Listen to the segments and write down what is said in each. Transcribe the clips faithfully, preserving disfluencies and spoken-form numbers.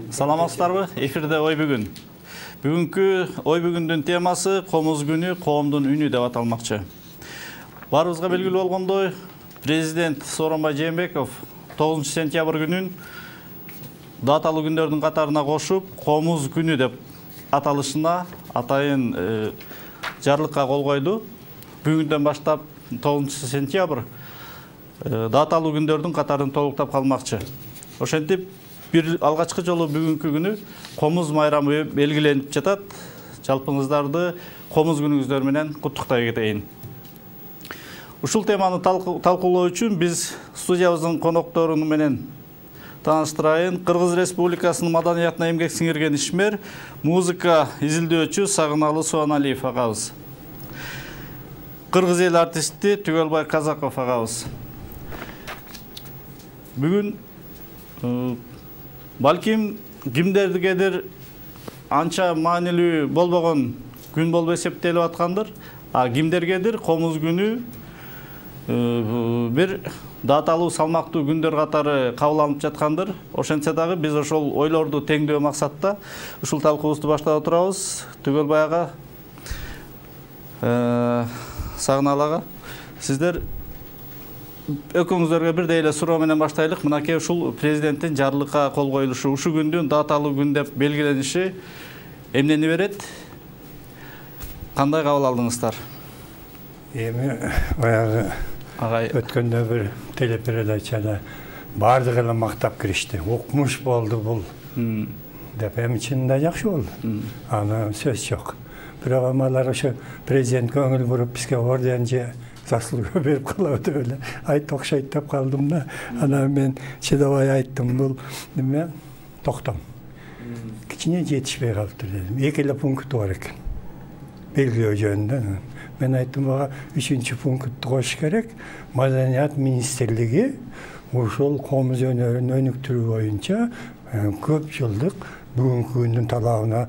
Саламатсыздарбы? Эфирде ой бүгүн. Бүгүнкү ой бүгүндүн темасы Комуз күнү, коомдун үнү деп аталмакчы. Барыбызга белгилүү болгондой, президент Сооронбай Жээнбеков тогузунчу сентябрь күнүн даталуу күндөрдүн катарына кошуп, Комуз күнү деп аталышына атайын э, жарлыкка кол койду. Бүгүндөн баштап тогузунчу сентябрь э, даталуу күндөрдүн катарын толуктап калмакчы. Ошентип бир алгачкы жолу бүгүнкү күнү Комуз майрамы белгиленип жатат. Жалпыңыздарды Комуз күнүңүздөр менен куттуктай кетейин. Ушул теманы талкуулоо үчүн биз студиябыздын коноктору менен тааныштырайын. Кыргыз Республикасынын маданиятына эмгек сиңирген ишмер, музыка изилдөөчү Сагыналы Суаналиев агабыз. Кыргыз эл артисти Түгөлбай Казаков агабыз. Бүгүн балким кимдергедир анча маанилүү болбогон күн болуп эсептелип аткандыр, а кимдергедир Комуз күнү бир даталуу салмактуу күндөр катары кабыл жаткандыр. Ошентсе дагы биз ошол ойлорду теңдөө максатта ушул талкуубузду баштап отурабыз. Түгөлбай ага, Сагыналы ага, сиздер экөөңүздөргө бирдей эле суроо менен баштайлык. Мынакей ушул президенттин жарлыкка кол коюлушу, ушул күндүн даталуу күн деп белгилениши эмнени берет? Кандай кабыл алдыңыздар? Эми баягы өткөндө бир телепередачада баардык эле мактап киришти. Укмуш болду бул деп, эми чынында жакшы болду. Аны сөз жок. Бирок амалар ошо президент көңүл буруп бизге орден же заслуга берип калабы деп эле айт окшойт деп калдым да. Анан мен чыдабай айттым, бул неме токтом. Кичине жетишпей калыптыр дедим. Эки эле пункту бар экен. Белгилөө жөнүндө. Мен айттым, бага үчүнчү пунктты кош керек. Маданият министрлиги ушул Комуз өнөрүн өнүктүрүү боюнча көп жылдык бүгүнкү күндүн талабына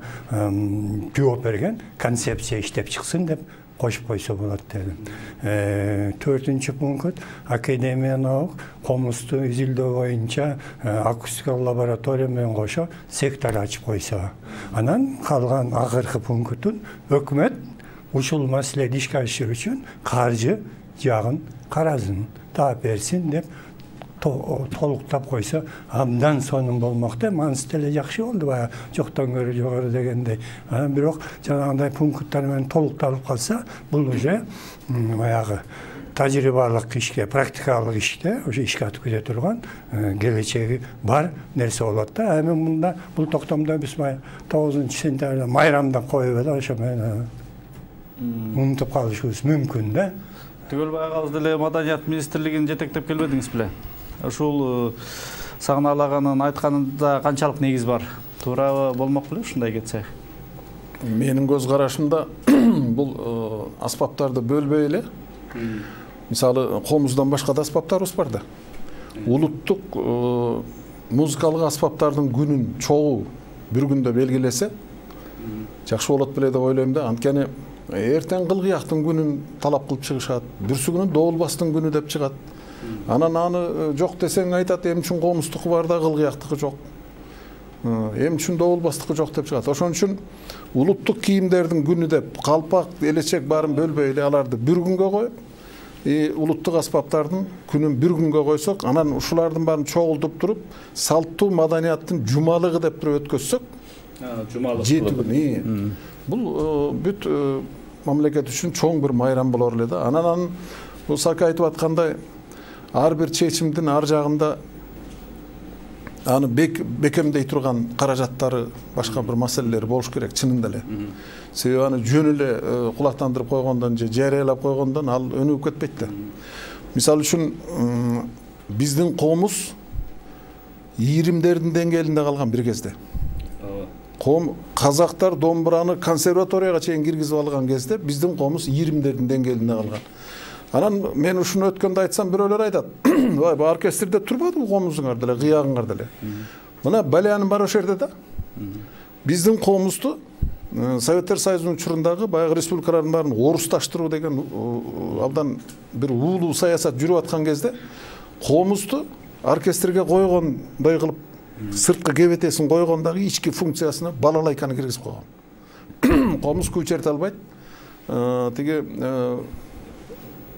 жооп берген концепция иштеп чыксын деп кошуп койсо болот дедим. Төртүнчү пункт Академия наук Комузду изилдөө боюнча акустикалык лаборатория менен кошо сектор ачып койсо. Анан калган акыркы пунктун өкмөт ушул маселеди ишке ашыруу үчүн каржы жагын карасын, таап берсин деп толуктап койсо абдан сонун болмок деп. Анысы деле жакшы болду, баягы жоктон көрө жогору дегендей. Анан бирок жанагындай пункттар менен толукталып калса, бул уже баягы тажрыйбалык ишке, практикалык ишке, ошо ишке атып кете турган келечеги бар нерсе болот да. Эми мында бул токтомдо биз тогузунчу сентябрда майрамда коюп эле ошо менен унутуп калышыбыз мүмкүн да. Түгөлбай агабыз деле Маданият министрлигин жетектеп келбедиңиз беле? Ушул Сагыналы аганын айтканында канчалык негиз бар? Туура болмок беле ушундай кетсе? Менин көз карашымда бул аспаптарды бөлбөй эле. Мисалы, Комуздан башка да аспаптарыбыз бар да. Улуттук музыкалык аспаптардын күнүн чогуу бир күндө белгилесе жакшы болот беле деп ойлойм да. Анткени эртең кылгыяктын күнүн талап кылып чыгышат, бүрсү күнү доолбастын күнү деп чыгат. Анан аны жок десең айтат, эми үчүн Комуздуку бар да кылгыяктыкы жок. Эми үчүн доолбастыкы жок деп чыгат. Ошон үчүн улуттук кийимдердин күнү деп калпак, элечек баарын бөлбөй эле аларды бир күнгө коюп, улуттук аспаптардын күнүн бир күнгө койсок, анан ушулардын баарын чогултуп туруп, салттуу маданияттын жумалыгы деп туруп өткөзсөк, жумалык жети күн. Бул бүт мамлекет үчүн чоң бир майрам болор эле да. Анан бул Сака айтып аткандай, ар бир чечимдин ар жагында аны бекемдей турган каражаттары, башка бир маселелер болуш керек чынында эле. Себеби аны жөн эле кулактандырып койгондон же жарыялап койгондон ал өнүгүп кетпейт да. Мисалы үчүн биздин Комуз ийримдердин деңгээлинде калган бир кезде. Казактар домбураны консерваторияга чейин киргизип алган кезде биздин Комуз ийримдердин деңгээлинде калган. Анан мен ушуну өткөндө айтсам, бирөөлөр айтат, "Вай, бу оркестрде турбадыбы Комузуңар деле, кыягыңар деле." Мына балянын бар ошол жерде да. Биздин Комузду Советтер Союзунун учурундагы баягы республикалардын баарын орусташтыруу деген абдан бир уулуу саясат жүрүп аткан кезде Комузду оркестрге койгондой кылып Сырткы кебетесин койгон дагы ички функциясына балалайканы киргизип койгон. Комуз күй черте албайт. Тиги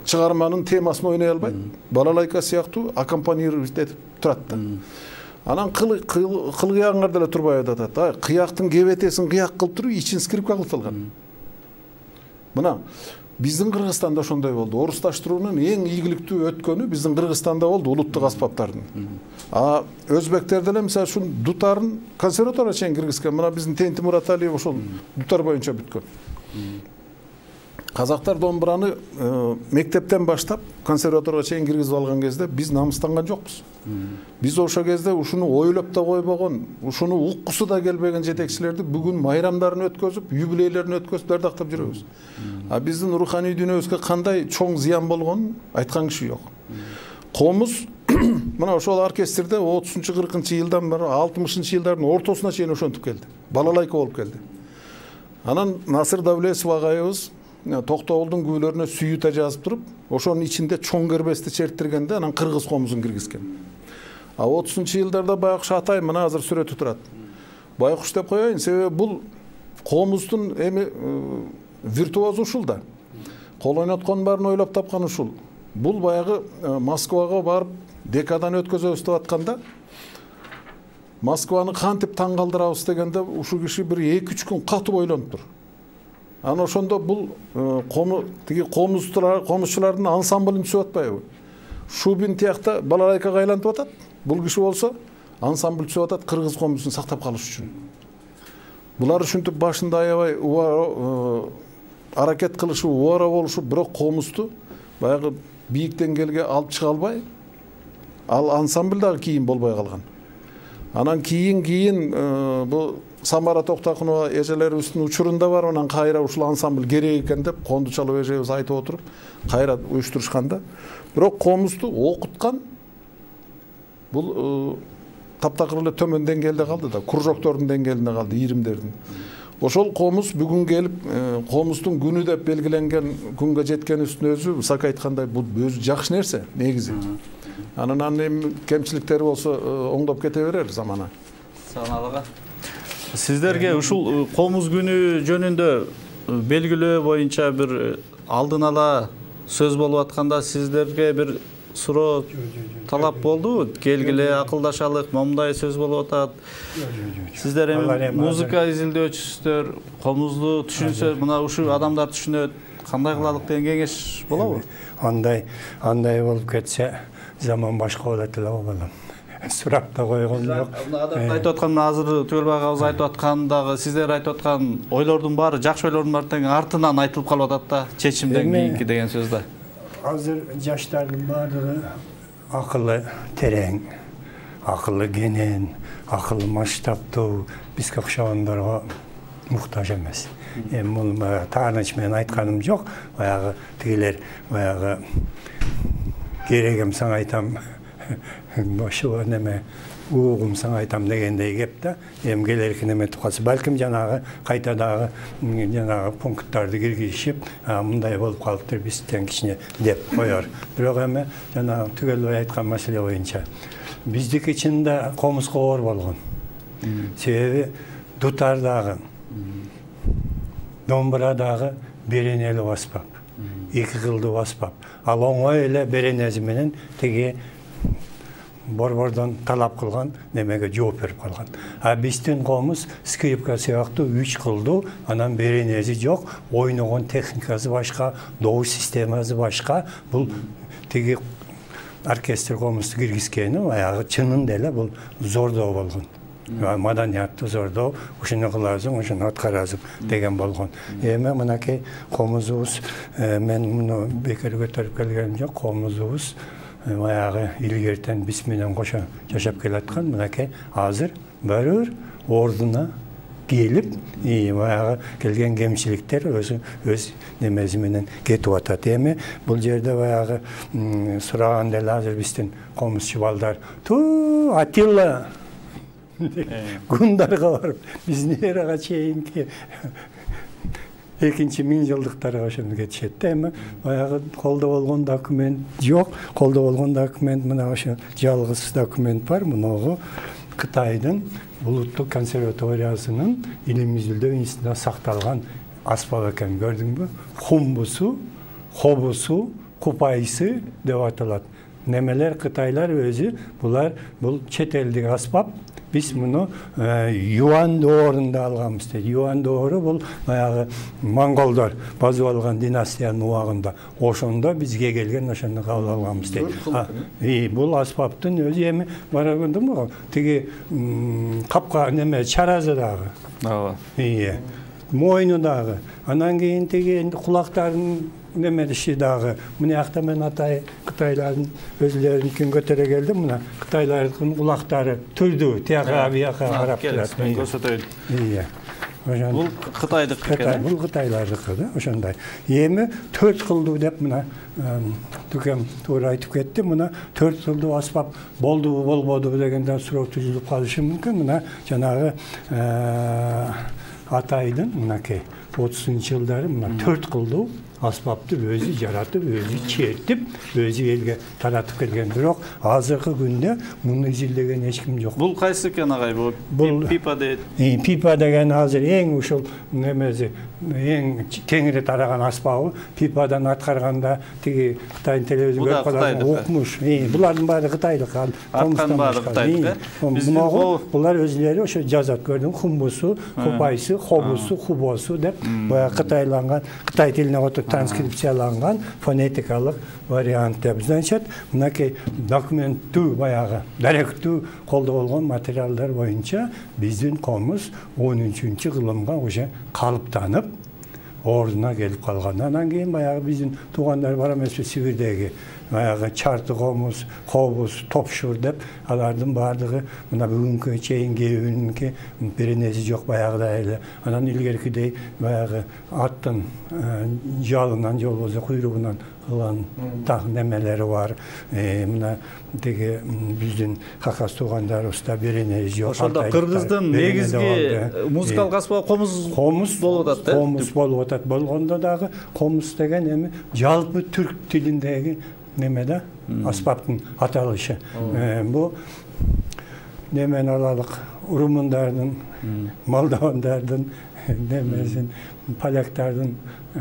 чыгарманын темасын ойной албайт. Балалайка сыяктуу аккомпанировать этип турат да. Анан кыл-кыягыңар деле турбай атат. Ай, кыяктын кебетесин кыяк кылып туруп, ичин скрипка кылып алган. Мына биздин Кыргызстанда ошондой болду. Орусташтыруунун эң ийгиликтүү өткөнү биздин Кыргызстанда болду, улуттук аспаптардын. А өзбектер деле мисалы үчүн дутарын консерваторияга чейин киргизген. Мына биздин Тенти Мураталиев ошол дутар боюнча бүткөн. Казактар домбураны мектептен баштап консерваторияга чейин киргизип алган кезде биз намыстанган жокпуз. Биз ошол кезде ушуну ойлоп да койбогон, ушуну уккусу да келбеген жетекчилерди бүгүн майрамдарын өткөзүп, юбилейлерин өткөзүп дардактап жүрөбүз. А биздин руханий дүйнөбүзгө кандай чоң зыян болгонун айткан киши жок. Комуз мына ошол оркестрде отузунчу кыркынчы жылдан бери алтымышынчы жылдардын ортосуна чейин ошентип келди. Балалайка болуп келди. Анан Насыр Давлесов агайыбыз Токтогулдун күйлөрүнө сүйүтө жазып туруп, ошонун ичинде чоң кербести черттиргенде анан кыргыз комузун киргизген. А отузунчу жылдарда Байкуш Атай мына азыр сүрөтү турат. Байкуш деп коеюн, себеби бул комуздун эми виртуозу ушул да. Кол ойнотконун баарын ойлоп тапкан ушул. Бул баягы Москвага барып декадан өткөзөбүз деп атканда Москваны кантип таң калтырабыз дегенде ушул киши бир эки үч күн катып ойлонуп тур. Анан ошондо бул кому тиги комузчулар, комузчулардын ансамблын түзүп атпайбы? Шубин тиякта балалайкага айлантып атат. Бул киши болсо ансамбль түзүп атат кыргыз комузун сактап калыш үчүн. Булар ушинтип башында аябай аракет кылышы, убара болушу, бирок комузду баягы бийик деңгээлге алып чыга албай, ал ансамбль дагы кийин болбой калган. Анан кийин кийин бул Самара Токтакунова эжелерибиздин учурунда бар, анан кайра ушул ансамбль керек экен деп Кондучалов эжебиз айтып отуруп, кайра уюштурушканда, бирок комузду окуткан бул таптакыр эле төмөн деңгээлде калды да, кружоктордун деңгээлинде калды, ийримдердин. Ошол комуз бүгүн келип, комуздун күнү деп белгиленген күнгө жеткенибиздин өзү, Сак айткандай, бул өзү жакшы нерсе, негизи. Анан анын кемчиликтери болсо оңдоп кете берер замана. Саналыга. Сиздерге ушул комуз күнү жөнүндө белгилөө боюнча бир алдын ала сөз болуп атканда сиздерге бир суроо талап болду? Келгиле, акылдашалык, момундай сөз болуп атат. Сиздер эми музыка изилдөөчүсүздөр, комузду түшүнсө, мына ушул адамдар түшүнөт, кандай кылалык деген кеңеш болобу? Андай, андай болуп кетсе, заман башка болот эле балам. Сурап да койгон жок. Адам айтып аткан, азыр Түгөлбай агабыз айтып аткандагы, сиздер айтып аткан ойлордун баары, жакшы ойлордун баары тең артынан айтылып калып атат да, чечимден кийинки деген сөз да. Азыр жаштардын баардыгы акылы терең, акылы кенен, акылы масштабтуу, бизге окшогондорго муктаж эмес. Эми бул тааныч менен айтканым жок, баягы тигилер баягы керегим сага айтам, ошо неме угум сага айтам дегендей кеп да, эми келерки неметип калса, балким жанагы кайта дагы жанагы пункттарды киргизишип, мындай болуп калыптыр бизден кичине деп коер. Бирок эми жанагы Түгөлбай айткан маселе боюнча биздики чынында комузга оор болгон. Себеби дутар дагы, домбура дагы беренелүү аспап, эки кылдуу аспап. Ал оңой эле беренеси менен тиги борбордон талап кылган немеге жооп берип калган. А биздин комуз скрипка сыяктуу үч кылдуу, анан беренеси жок, ойногон техникасы башка, добуш системасы башка. Бул тиги оркестр комузду киргизгени баягы чынында эле бул зордоо болгон. Маданиятты зордоо, ушуну кыласың, ушуну аткарасың деген болгон. Эми мынакей комузубуз, мен муну бекер көтөрүп келгеним жок, комузубуз баягы илгертен биз менен кошо жашап келаткан, мынакей азыр баары ордуна келип, баягы келген кемчиликтер өзү өз немеси менен кетип атат. Эми бул жерде баягы сураган деле азыр биздин комузчу балдар, ту Атилла гундарга барып, биздин эрага чейинки экинчи миң жылдыктарга ошону кетишет. Эми баягы колдо болгон документ жок, колдо болгон документ мына ошо жалгыз документ бар, мунугу Кытайдын улуттук консерваториясынын илим изилдөө институтунда сакталган аспап экен, көрдүңбү? Хумбусу, хобусу, купайсы деп аталат. Немелер Кытайлар өзү булар бул чет элдик аспап. Биз муну Юан доорунда алганбыз дейт. Юан доору бул баягы монголдор базып алган династиянын убагында. Ошондо бизге келген, ошондо кабыл алганбыз дейт. И бул аспаптын өзү эми бара көрдүңбү? Тиги капка неме чаразы дагы. Ооба. Ие. Мойну дагы. Анан кийин тиги кулактарын немедиши дагы. Мына акта мен атай Кытайлардын өзлөрүнүн көтөрө келдим. Мына Кытайлардын кулактары түрдүү, тияка бияка карап турат. Көрсөтөйүн. Ие. Бул Кытайдык экен. Бул Кытайлардыкы да, ошондой. Эми төрт кылдуу деп мына Түкем туура айтып кетти. Мына төрт кылдуу аспап болдубу, болбодубу дегенде суроо түзүлүп калышы мүмкүн. Мына жанагы атайдын мынакей отузунчу жылдары мына төрт кылдуу аспапты өзү жаратып, өзү чертип, өзү элге таратып келген. Бирок азыркы күндө муну изилдеген эч ким жок. Бул кайсы экен агай? Бул пипа дейт. Пипа деген азыр эң ушул немеси, эң кеңири тараган аспабы. Пипадан аткарганда тиги Кытайдын телевизион көрүп калган окмуш. Булардын баары Кытайлык. Аткан баары Кытайлык. Булар өзүлөрү ошо жазат, көрдүң, хумбусу, хупайсы, хобусу, хубосу деп баягы кытайланган, Кытай тилине отуп транскрипцияланган фонетикалык вариант деп. Значит, мынакей документтүү баягы, даректүү колдо болгон материалдар боюнча биздин комуз он үчүнчү кылымга уже калыптанып, ордуна келип калган. Анан кийин баягы биздин туугандар бар эмеспи Сибирдеги, баягы Чарты комуз, Хобус, Топшур деп, алардын баардыгы мына бүгүнкү чейин кээбининки беренеси жок баягыдай эле. Анан илгеркидей баягы аттын жалынан же болбосо куйругунан кылган так немелери бар. Мына тиги биздин Хакас туугандарыбызда беренеси жок. Ошондо Кыргыздын негизги музыкалык аспабы комуз болуп атат, э? Комуз болуп атат. Болгондо дагы комуз деген эми жалпы түрк тилиндеги неме да, аспаптын аталышы. Бу немени алалык, румундардын, молдовандардын немесин, поляктардын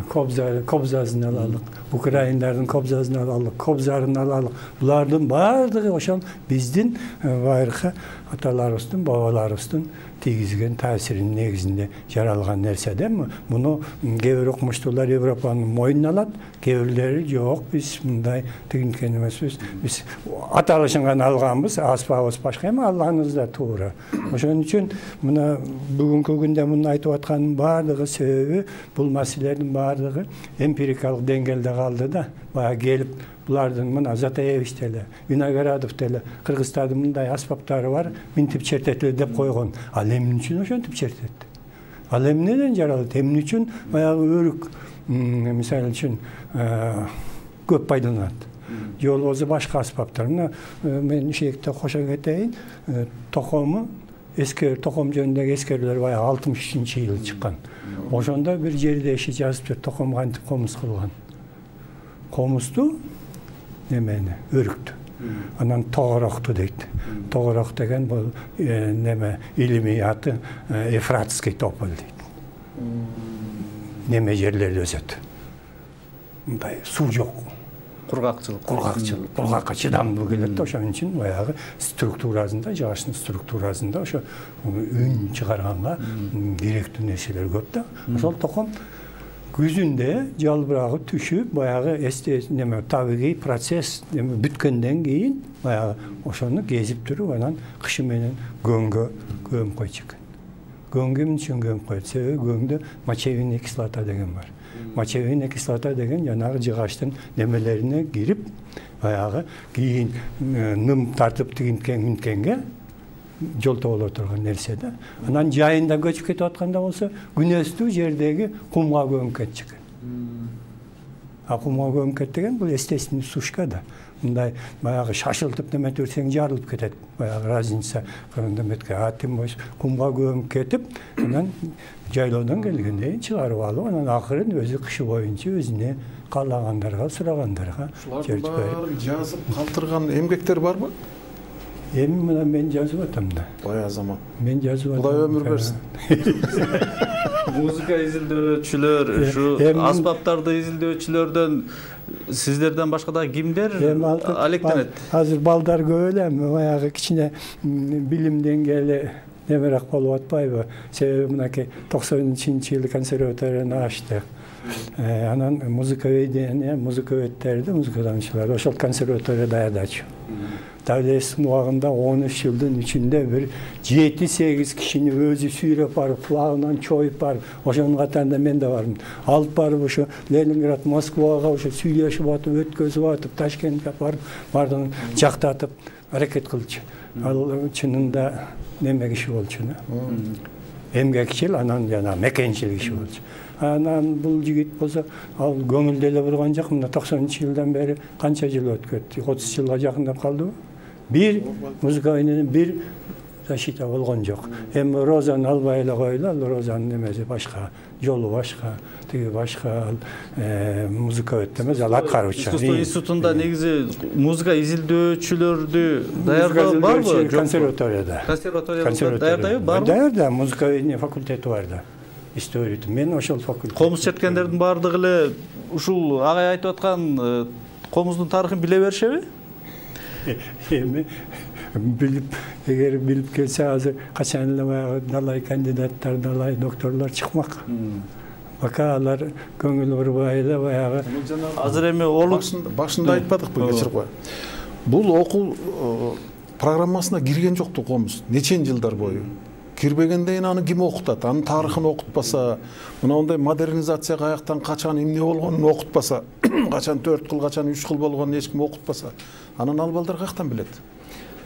кобзасын алалык, украиндардын кобзасын алалык, кобзарын алалык. Булардын баардыгы ошол биздин байыркы аталарыбыздын, бабаларыбыздын тийгизген таасиринин негизинде жаралган нерсе да. Муну кээ бир окумуштуулар Европанын мойнуна алат, кээ бирлери жок, биз мындай тигинкен эмеспиз. Биз аталышын гана алганбыз, аспабыбыз башка эми алганыбыз да туура. Ошон үчүн мына бүгүнкү күндө муну айтып аткандын баардыгы себеби бул маселелердин баардыгы эмпирикалык деңгээлде калды да. Бая келип булардын мына Затаевич деле, Виноградов деле Кыргызстандын мындай аспаптары бар, минтип чертетили деп койгон. Ал эмне үчүн ошентип чертет? Ал эмнеден жаралат? Эмне үчүн баягы өрүк, мисалы үчүн көп пайдаланат? Же болбосо башка аспаптар. Мына мен ишекте кошо кетейин, токому эскер током жөнүндөгү эскерүүлөр баягы алтымыш үчүнчү жылы чыккан. Ошондо бир жерде иши жазып жүр, током кантип комуз кылган. Комузду немени өрүктү. Анан тогорокту дейт. Тогорок деген бул неме илимий аты Ефратский тополь дейт. Неме жерлерде өсөт. Мындай суу жок. Кургакчылык. Кургакчылык. Кургакка чыдамдуу келет да. Ошон үчүн баягы структурасында, жагаштын структурасында ошо үн чыгарганга керектүү нерселер көп да. Ошол током күзүндө жалбырагы түшүп, баягы эсте неме табигый процесс неме бүткөндөн кийин баягы ошону кезип туруп, анан кышы менен көңгө көмүп койчу экен. Көңгө эмне үчүн көмүп коет? Себеби көңдө мочевинная кислота деген бар. Мочевинная кислота деген жанагы жыгаштын немелерине кирип, баягы кийин ным тартып тигинткен мүнткенге жолто боло турган нерсе да. Анан жайында көчүп кетип атканда болсо, күнөстүү жердеги кумга көмүп кетчү экен. А кумга көмүп кет деген бул естественный сушка да. Мындай баягы шашылтып неме турсаң жарылып кетет. Баягы разница кыргындаметке атым бош кумга көмүп кетип, анан жайлоодон келгенде чыгарып алып, анан акырын өзү кышы боюнча өзүнө каалагандарга, сурагандарга жазып калтырган эмгектер барбы? Эми мына мен жазып атам да. Бая заман. Мен жазып атам. Кудай өмүр берсин. Музыка изилдөөчүлөр, ушу аспаптарды изилдөөчүлөрдөн сиздерден башка да кимдер алектенет? Азыр балдар көп эле, баягы кичине билим деңгээли немерак болуп атпайбы? Себеби мынакей токсонунчу жылы консерваторияны ачтык. Анан музыка ведения, музыка өттерди, музыкаданчылар ошол консерватория даярдачу. Давлестин убагында он үч жылдын ичинде бир жети сегиз кишини өзү сүйрөп барып, флагынан чоюп барып, ошонун катарында мен да бармын. Алып барып ошо Ленинград, Москвага ошо сүйлөшүп атып, өткөзүп атып, Ташкентке барып, бардыгын жактатып аракет кылчу. Ал чынында неме киши болчу. Эмгекчил, анан жана мекенчил киши болчу. Анан бул жигит болсо, ал көңүлдө эле бурган жок. Мына токсонунчу жылдан бери канча жыл өтүп кетти? отуз жылга жакындап калдыбы? Бир музыка менен бир защита болгон жок. Эми Розаны албай эле койлу, ал Розанын немеси башка, жолу башка, тиги башка, музыка өтөмөз, ал аткаруучу. Искусство институтунда негизи музыка изилдөөчүлөрдү даярдоо барбы? Консерваторияда. Консерваторияда даярдайбы? Барбы? Даярда, музыка факультети бар да. История. Мен ошол факультет. Комуз четкендердин баардыгы эле ушул агай айтып аткан комуздун тарыхын биле беришеби? Эми билип, эгер билип келсе азыр качан эле баягы далай кандидаттар, далай докторлор чыкмак. Бака алар көңүл бурбай эле баягы. Азыр эми олук башында айтпадыкпы, кечирип кой. Бул окуу программасына кирген жокту комуз. Нечен жылдар бою? Кирбегенден аны ким окутат? Анын тарыхын окутпаса, мына ондай модернизация каяктан качан эмне болгонун окутпаса, качан төрт кыл, качан үч кыл болгонун эч ким окутпаса, анан ал балдар каяктан билет?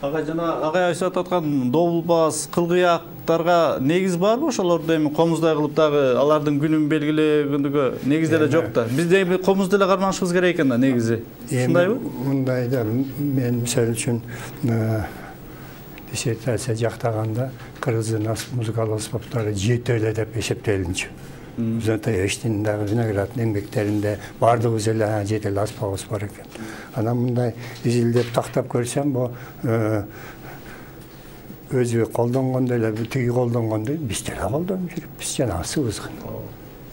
Ага жана агай айтып аткан добулбас, кылгыяктарга негиз барбы? Ошолорду эми комуздай кылып дагы алардын күнүн белгилегендиги негиз деле жок да. Биз эми комуз деле карманышыбыз керек экен да негизи. Ушундайбы? Мындай да, мен мисалы үчүн диссертация жактаганда кыргыздын музыкалык аспаптары жети эле деп эсептелинчү. Зато эштин дагы виноградный эмгектеринде баардыгыбыз эле жети эле аспабыбыз бар экен. Анан мындай изилдеп тактап көрсөм, бу өзү колдонгондой эле, тиги колдонгондой биз деле колдонуп жүрүпбүз, жанагысыбыз.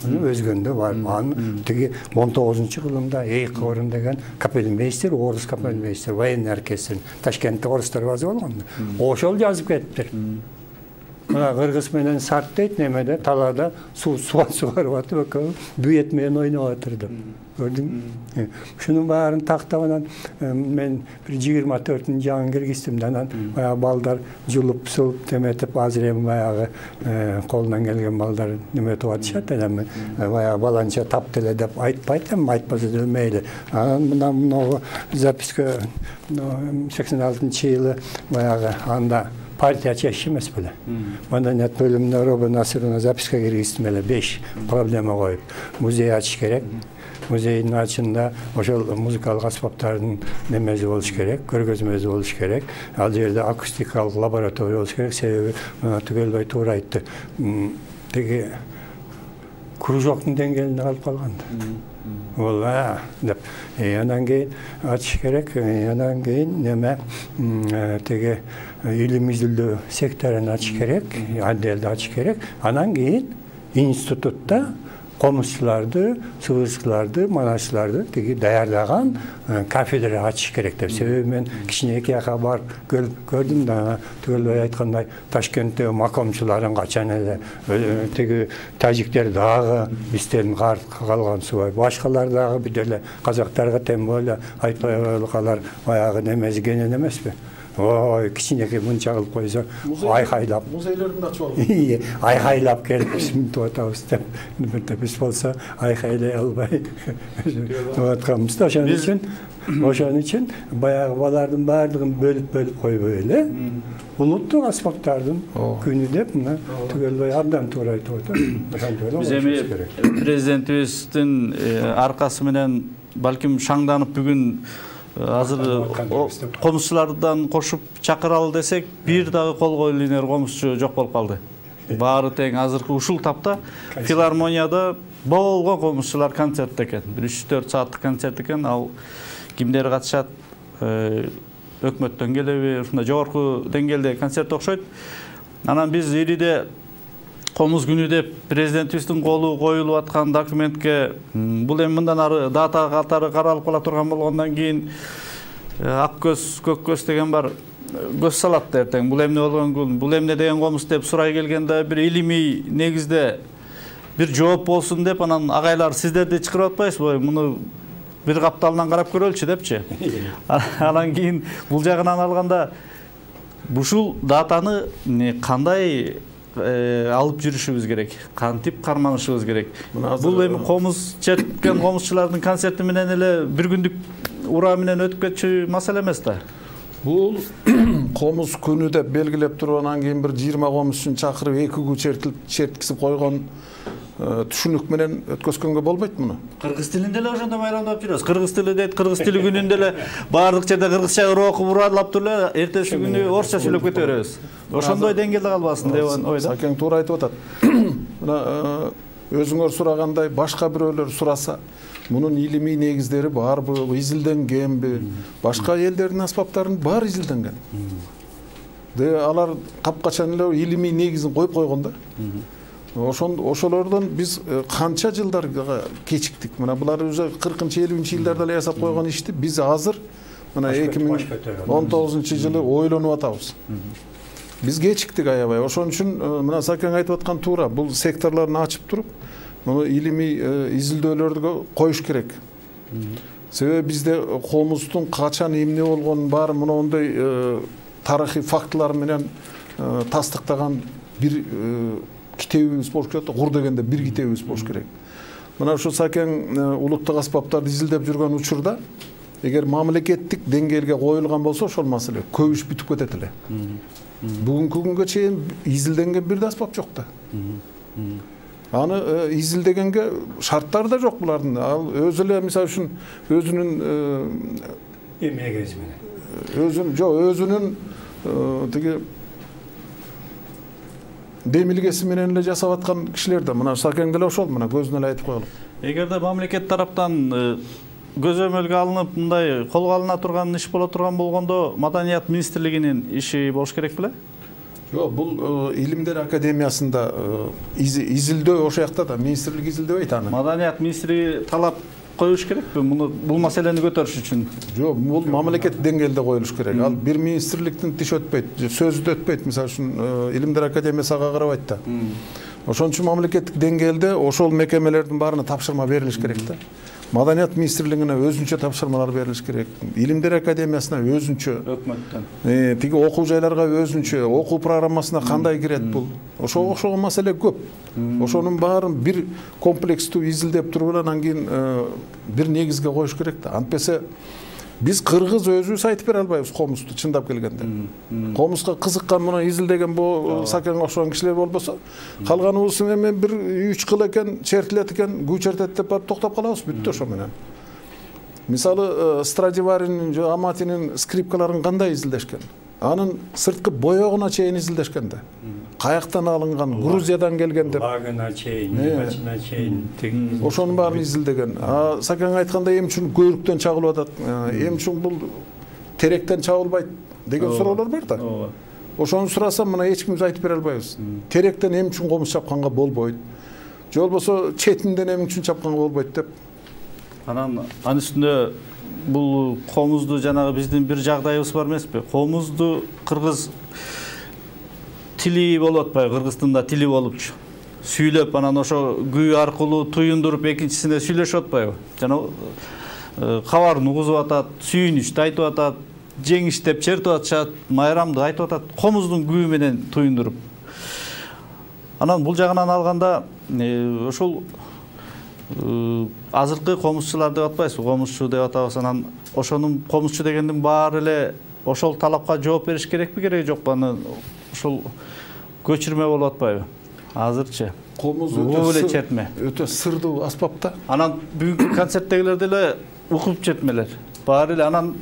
Өзгөндө бар. Анын тиги он тогузунчу кылымда Эйк Орун деген капельмейстер, орус капельмейстер, военный оркестр, Ташкентте орустар базы болгон. Ошол жазып кетиптир. Мына кыргыз менен сарт дейт, немеде талаада суу сугарып атып, экөө дуэт менен ойноп атыр деп. Көрдүңбү? Ушунун баарын тактап анан мен бир жыйырма төртүнчү жаңы киргиздим да, анан баягы балдар жулуп сулуп теметип, азыр эми баягы колунан келген балдар неметип атышат эле. Баягы баланча тапты эле деп айтпайт, эми айтпаса деле мейли. Анан мына могу записка сексен алтынчы жылы баягы анда партия чечиши эмес беле. Маданият бөлүмүнө Роба Насыровна записка киргиздим эле, беш проблема коюп. Музей ачыш керек. Музейдин ачында ошол музыкалык аспаптардын немеси болуш керек, көргөзмөсү болуш керек. Ал жерде акустикалык лаборатория болуш керек. Себеби Түгелбай туура айтты. Тиги кружоктун деңгээлинде калып калган. Ол деп. Анан кийин ачыш керек. Анан кийин неме тиги илим изилдөө секторун ачыш керек, отделди ачыш керек. Анан кийин институтта комузчуларды, сыбызгыларды, манашчыларды тиги даярдаган кафедра ачыш керек деп. Себеби мен кичине эки жака барып көрдүм да, Түгелбай айткандай Ташкентте макомчуларын качан эле тиги тажиктер дагы бизден калган субай, башкалар дагы бүт эле казактарга тем более айтпай коелукалар баягы немеси кенен эмеспи? Ой, кичинекей мынча кылып койсо, айкайлап. Музейлерин ачып алган. Айкайлап келип мынтип атабыз деп. Биз болсо айкайлай албай атканбыз да. Ошон үчүн, ошон үчүн баягы балардын баардыгын бөлүп-бөлүп койбой эле. Улуттук аспаптардын күнү деп мына Түгелбай абдан туура айтып атат. Биз эми президентибиздин аркасы менен балким шаңданып бүгүн азыр комузчулардан кошуп чакыралы десек, бир дагы кол коюлуунер комузчу жок болуп калды. Баары тең азыркы ушул тапта филармонияда болгон комузчулар концерт экен. бир үч төрт сааттык концерт экен. Ал кимдер катышат? өкмөттөн келеби, ушундай жогорку деңгээлде концерт окшойт. Анан биз ириде Комуз күнү деп президентибиздин колу коюлуп аткан документке бул эми мындан ары дата катары каралып кала турган болгондон кийин ак көз, көк көз деген бар көз салат эртең. Бул эмне болгон күн, бул эмне деген комуз деп сурай келгенде бир илимий негизде бир жооп болсун деп анан агайлар сиздерди чакырып атпайсызбы? Муну бир капталынан карап көрөлчү депчи. Анан кийин бул жагынан алганда ушул датаны кандай алып жүрүшүбүз керек, кантип карманышыбыз керек. Бул эми комуз черткен комузчулардын концерти менен эле бир күндүк ура менен өтүп кетчү маселе эмес да. Бул комуз күнү деп белгилеп туруп анан кийин бир жыйырма комузчун чакырып эки күн чертилип черткизип койгон түшүнүк менен өткөзгөнгө болбойт муну. Кыргыз тилинде эле ошондо майрамдап жүрөбүз. Кыргыз тили дейт, кыргыз тили күнүндө эле баардык жерде кыргызча окуп уралап туруп эле эртеси күнү орусча сүйлөп кете беребиз. Ошондой деңгээлде калбасын деп ойдо. Сакең туура айтып атат. Мына өзүңөр сурагандай башка бирөөлөр сураса, мунун илимий негиздери барбы, изилденгенби? Башка элдердин аспаптарынын баары изилденген. Де алар капкачан эле илимий негизин коюп койгон да. Ошон ошолордон биз канча жылдарга кечиктик. Мына булар уже кыркынчы элүүнчү жылдарда эле жасап койгон ишти биз азыр мына эки миң он тогузунчу жылы ойлонуп атабыз. Биз кечиктик аябай. Ошон үчүн мына Сакең айтып аткан туура. Бул секторлорун ачып туруп, муну илимий изилдөөлөргө коюш керек. Себеби бизде комуздун качан эмне болгонун баары мындай тарыхый фактылар менен тастыктаган бир китебибиз болуш керек. Кур дегенде бир китебибиз болуш керек. Мына ушу Сакең улуттук аспаптарды изилдеп жүргөн учурда эгер мамлекеттик деңгээлге коюлган болсо ошол маселе көп иш бүтүп кетет эле. Бүгүнкү күнгө чейин изилденген бир да аспап жок да. Аны изилдегенге шарттары да жок булардын. Ал өзү эле мисалы үчүн өзүнүн эмегиз менен. Өзүн жок, өзүнүн тиги демилгеси менен эле жасап аткан кишилер да. Мына Сакең деле ошол, мына көзүнө эле айтып коелук. Эгерде мамлекет тараптан көзөмөлгө алынып, мындай колго алына турган иш боло турган болгондо, Маданият министрлигинин иши болуш керек беле? Жок, бул Илимдер академиясында изилдөө ошол жакта да, министрлик изилдебейт аны. Маданият министри талап коюш керекпи муну бул маселени көтөрүш үчүн? Жок, бул мамлекет деңгээлде коюлуш керек. Ал бир министрликтин тиш өтпөйт, сөзү да өтпөйт. Мисалы үчүн Илимдер академиясы ага карабайт да. Ошон үчүн мамлекеттик деңгээлде ошол мекемелердин баарына тапшырма берилиш керек да. Маданият министрлигине өзүнчө тапшырмалар берилиш керек. Илимдер академиясына өзүнчө, өкмөттөн. Э, тиги окуу жайларга өзүнчө, окуу программасына кандай кирет бул? Ошо ошого маселе көп. Ошонун баарын бир комплекстүү изилдеп туруп анан кийин бир негизге коюш керек да. Антпесе биз кыргыз өзүбүз айтып бере албайбыз комузду чындап келгенде. Комузга кызыккан муну изилдеген бу Сакең окшогон кишилер болбосо, калганыбыз эми бир үч кыл экен, чертилет экен, күү чертет деп барып токтоп калабыз, бүттү ошо менен. Мисалы Страдиваринин, Аматинин скрипкаларын кандай изилдешкен? Анын сырткы боёгуна чейин изилдешкен да. Каяктан алынган, Грузиядан келген деп. Лагына чейин, бачына чейин. Ошонун баарын изилдеген. А Сакең айткандай эми үчүн көйрүктөн чагылып атат, эми үчүн бул теректен чагылбайт деген суроолор бар да. Ошону сурасам мына эч кимибиз айтып бере албайбыз. Теректен эми үчүн комуз чапканга болбойт. Же болбосо четинден эми үчүн чапканга болбойт деп. Анан анын үстүндө бул комузду жанагы биздин бир жагдайыбыз бар эмеспи? Комузду кыргыз тили болуп атпайбы? Кыргыздын да тили болупчу. Сүйлөп анан ошо күү аркылуу туюндуруп экинчисине сүйлөшүп атпайбы? Жана кабарын угузуп атат, сүйүнүчтү айтып атат, жеңиш деп чертип атышат, майрамды айтып атат, комуздун күү менен туюндуруп. Анан бул жагынан алганда ошол азыркы комузчулар деп атпайсызбы? Комузчу деп атабыз. Анан ошонун комузчу дегендин баары эле ошол талапка жооп бериш керекпи, кереги жокпу? Аны ошол көчүрмө болуп атпайбы? Азырчы. Комуз өтө чертме. Өтө сырдуу аспап да. Анан бүгүнкү концерттегилер деле укуп чертмелер. Баары эле анан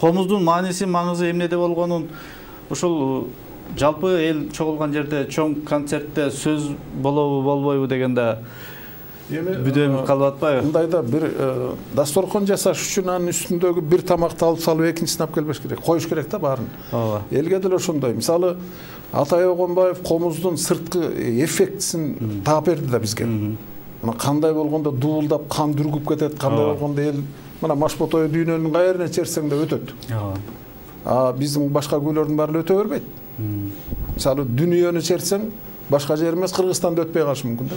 комуздун мааниси, маңызы эмнеде болгонун ошол жалпы эл чогулган жерде чоң концертте сөз болобу болбойбу дегенде бүдөөлүп калып атпайбы? Мындайда бир дасторкон жасаш үчүн анын үстүндөгү бир тамакты алып салып экинчисин алып келбеш керек. Коюш керек да баарын. Ооба. Элге деле ошондой. Мисалы Атай Огонбаев комуздун сырткы эффектисин таап берди да бизге. Мына кандай болгондо дуулдап кан дүргүп кетет, кандай болгондо эл мына Машботой дүйнөнүн кайрына черсең да өтөт. Ооба. А биздин башка күйлөрдүн баары өтө бербейт. Мисалы дүйнөнү черсең башка жер эмес Кыргызстанда өтпөй калышы мүмкүн да.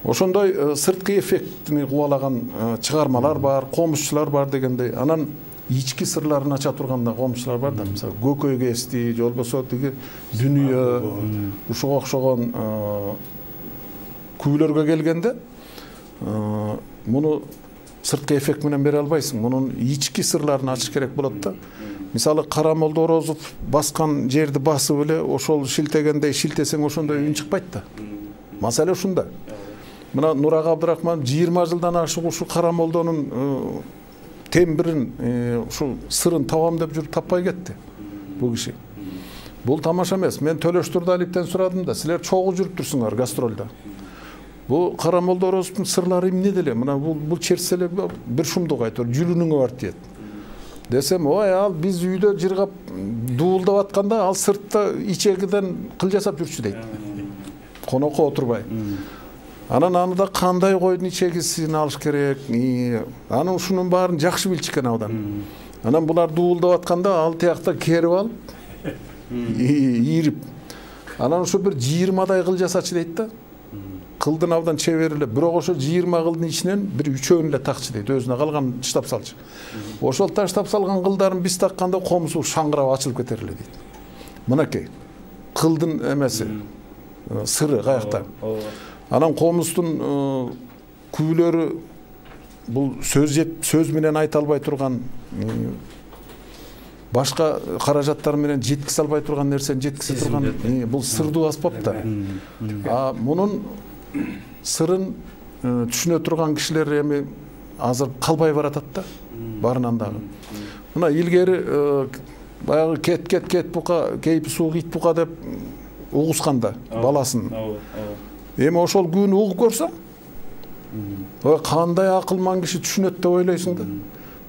Ошондой сырткы эффектини кубалаган чыгармалар бар, комузчулар бар дегендей. Анан ички сырларын ача турган да комузчулар бар да. Мисалы Көкөй кести, же болбосо тиги дүйнө ушуга окшогон күйлөргө келгенде муну сырткы эффект менен бере албайсың. Мунун ички сырларын ачыш керек болот да. Мисалы Карамолдо Орозов баскан жерди басып эле ошол шилтегендей шилтесең ошондой үн чыкпайт да. Маселе ушунда. Мына Нурак Абдрахманов жыйырма жылдан ашык ушу Карамолдонун тембирин, ушу сырын табам деп жүрүп таппай кетти бул киши. Бул тамаша эмес. Мен Төлөш Турдалиевден сурадым да, силер чогуу жүрүп турсуңар гастролдо. Бул Карамолдо Орозовдун сырлары эмне деле? Мына бул бул черсе эле бир шумдук айтор, жүрүнүңө бар тиет. Десем, ой, ал биз үйдө жыргап дуулдап атканда ал сыртта ичегиден кыл жасап жүрчү дейт. Конокко отурбай. Анан аны да кандай койдун ичегисин алыш керек. Анан ушунун баарын жакшы билчү экен абдан. Анан булар дуулдап атканда ал тиякта керип алып, ийирип. Анан ошо бир жыйырмадай кыл жасачы дейт да. Кылдын абдан чебер эле, бирок ошо жыйырма кылдын ичинен бир үчөөнү эле такчы дейт, өзүнө калганын таштап салчу. Ошол таштап салган кылдарын биз такканда комузу шаңгырап ачылып кетер эле дейт. Мынакей кылдын эмеси, сыры каякта. Анан комуздун күйлөрү бул сөз сөз менен айта албай турган, башка каражаттар менен жеткизе албай турган нерсени жеткизе турган бул сырдуу аспап да. А мунун сырын түшүнө турган кишилер эми азыр калбай баратат да, баарынан дагы. Мына илгери баягы кет кет кет бука, кейпи суук ит бука деп угусканда баласын. Эми ошол күнү угуп көрсөң, ой кандай акылман киши түшүнөт деп ойлойсуң да.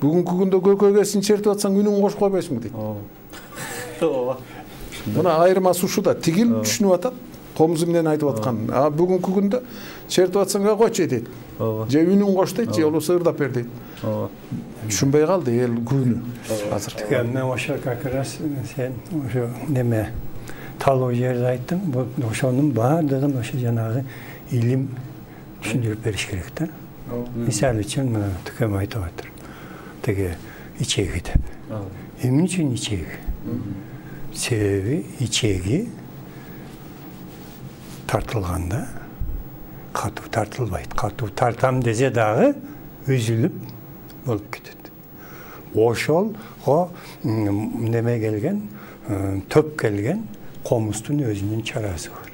Бүгүнкү күндө көкөйгесин чертип атсаң үнүн кошуп койбойсуңбу дейт. Ооба. Мына айырмасы ушуда, тигил түшүнүп атат, комуз эмнени айтып аткан. А бүгүнкү күндө чертип атсаң койчу дейт. Ооба. Же үнүн кош дейт, же болбосо ырдап бер дейт. Ооба. Түшүнбөй калды эл күнү азыр. Мен ошо как раз сен ошо неме талоо жерди айттың, ошонун баардыгын ошо жанагы илим түшүндүрүп бериш керек да. Мисалы үчүн мына Түкөм айтып атыр. Теги ичеги деп. Эмне үчүн ичеги? Себеби ичеги тартылганда катуу тартылбайт. Катуу тартам десе дагы үзүлүп болуп кетет. Ошолго неме келген, төп келген комуздун өзүнүн чарасы бар.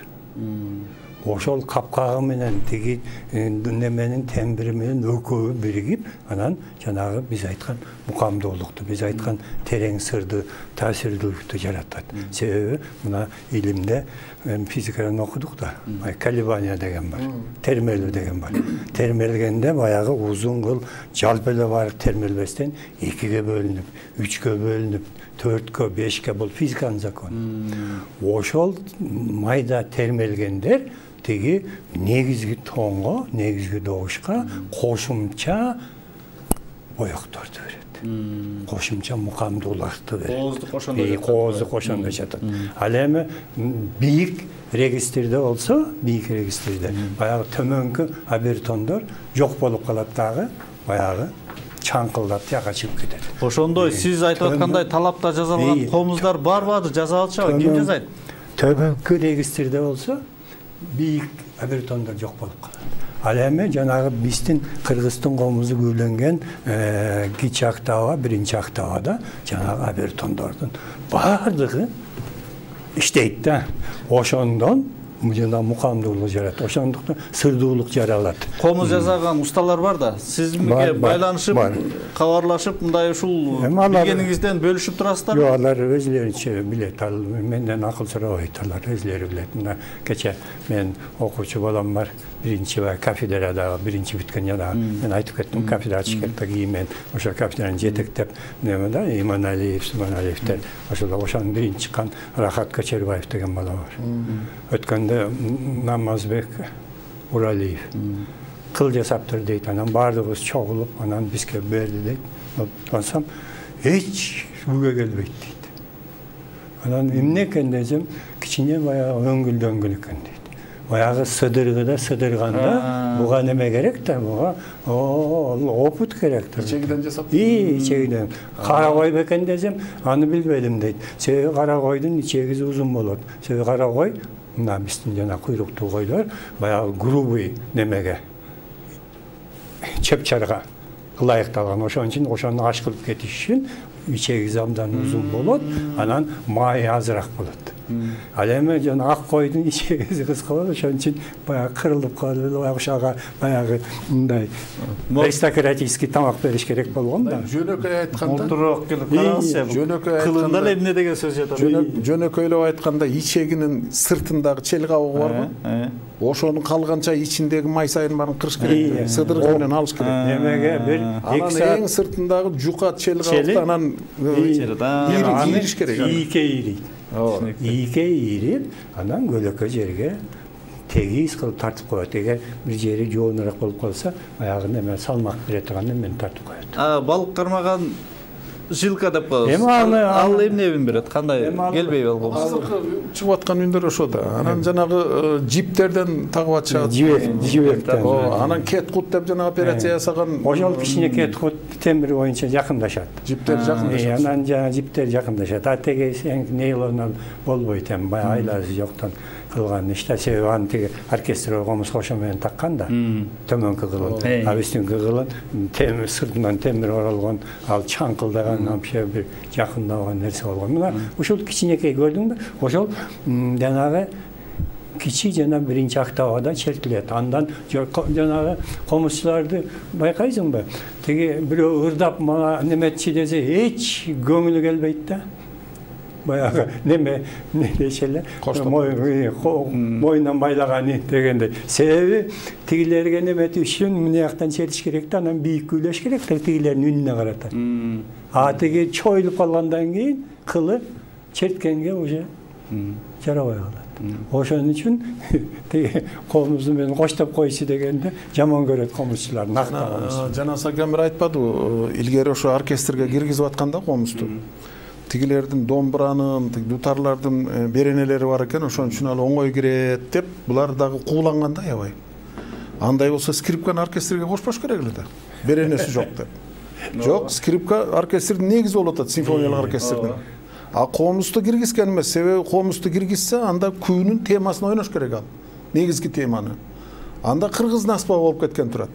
Ошол капкагы менен тиги неменин тембири менен экөө биригип, анан жанагы биз айткан мукамдуулукту, биз айткан терең сырды, таасирдүүлүктү жаратат. Себеби мына илимде физикадан окудук да, колебания деген бар, термелүү деген бар. Термелгенде баягы узун кыл жалпы эле бар термелбестен экиге бөлүнүп, үчкө бөлүнүп, төрткө, бешке бул физиканын закону. Ошол майда термелгендер тиги негизги тоонго, негизги добушка кошумча боекторду берет. Кошумча мукамдуулукту берет. Коозду кошондо жатат. Коозду кошондо жатат. Ал эми бийик регистрде болсо, бийик регистрде баягы төмөнкү обертондор жок болуп калат дагы, баягы чаңкылдап тияка чыгып кетет. Ошондой сиз айтып аткандай талапта жазалган комуздар барбы азыр жазалчыбы? Ким жазайт? Төмөнкү регистрде болсо бийик обертондор жок болуп калат. Ал эми жанагы биздин Кыргыздын комузу күйленген кичи октава, биринчи октавада жанагы обертондордун баардыгы иштейт да. Ошондон жана мукамдуулук жарат. Ошондуктан сырдуулук жаралат. Комуз жасаган усталар бар да. Сизге байланышып, кабарлашып, мындай ушул билгениңизден бөлүшүп турасыздар? Жок, алар өзлөрүнчө билет. Ал менден акыл сурабайт, алар өзлөрү билет. Мына кече мен окуучу балам бар. Биринчи кафедрада, биринчи бүткөн жана мен айтып кеттим, кафедра ачыш керек деген мен ошо кафедраны жетектеп, неме да, Иманалиев, Субаналиевтер, ошол ошонун биринчи чыккан Рахат Кочербаев деген бала бар. Өткөндө Намазбек Уралиев кыл жасаптыр дейт, анан баардыгыбыз чогулуп, анан бизге берди дейт. Ансам эч бүгө келбейт дейт. Анан эмне экен десем, кичине баягы өңгүл-дөңгүл экен дейт. Баягы сыдыргыда сыдырганда буга неме керек да, буга опыт керек да. Ичегиден жасап? И, ичегиден. Кара кой бекен десем, аны билбедим дейт. Себеби кара койдун ичеги узун болот. Себеби кара кой, мына биздин жана куйруктуу койлор баягы грубый немеге, чепчарга ылайыкталган. Ошон үчүн ошону аш кылып кетиш үчүн ичеги абдан узун болот, анан май азыраак болот. Ал эми жана ак койдун ичеги кыска болот, ошон үчүн баягы кырылып калып, баягы ошого баягы мындай аристократический тамак бериш керек болгон да. Жөнөкөй айтканда, отурук келип караңызчы. Жөнөкөй кылында эле эмне деген сөз жатат? Жөнөкөйлөп айтканда, ичегинин сыртындагы чел кабыгы барбы? Ошонун калганча ичиндеги май сайын баарын кырыш керек. Сыдыргы менен алыш керек. Немеге бир эки саат эң сыртындагы жука чел кабыкты анан ийриш керек. Ийке ийрийт. Ийке ийрип, анан көлөкө жерге тегиз кылып тартып коет. Эгер бир жери жоонураак болуп калса, аягы неме салмак бере турган эмени тартып коет. А балык кармаган жилка деп коебуз. Ал эмнени берет? Кандай келбей болгонбуз? Азыркы чыгып аткан үндөр ошо да. Анан жанагы жиптерден тагып атышат. Жибек, жибектен. Анан кеткут деп жана операция жасаган. Ошол кичине кеткут темир боюнча жакындашат. Жиптер жакындашат. Анан жана жиптер жакындашат. А теге нейлонал болбойт эми, баягы айласы жоктон кылган иште. Себеби аны теге оркестр комуз кошо менен таккан да. Төмөнкү кылын. А үстүнкү кылын темир сыртынан темир оролгон, ал чаңкылдаган вообще бир жакындаган нерсе болгон. Мына ушул кичинекей көрдүңбү? Ошол жанагы кичи жана биринчи октавада чертилет. Андан жанагы комузчуларды байкайсыңбы? Теги бирөө ырдап мага неметчи десе эч көңүлү келбейт да. Баягы неме не дешеле? Мойнунан байлаганы дегендей. Себеби тигилерге немети үчүн мына жактан чертиш керек да, анан бийик күйлөш керек да, тигилердин үнүнө карата. А теги чоюлуп калгандан кийин кылы черткенге уже жарабай калат. Ошон үчүн теги комузду менен коштоп койчу дегенде жаман көрөт комузчулар, нактаган. Жана Сагамир айтпадыбы, илгери ошо оркестрге киргизип атканда комузду. Тигилердин домбуранын, дутарлардын беренелери бар экен, ошон үчүн ал оңой кирет деп, булар дагы кууланганда аябай. Андай болсо скрипканы оркестрге кошпош керек эле да. Беренеси жок деп. Жок, скрипка оркестрдин негизи болуп атат, симфониялык оркестрдин. А комузду киргизген эмес, себеби комузду киргизсе, анда күүнүн темасын ойнош керек ал. Негизги теманы. Анда кыргыздын аспабы болуп кеткен турат.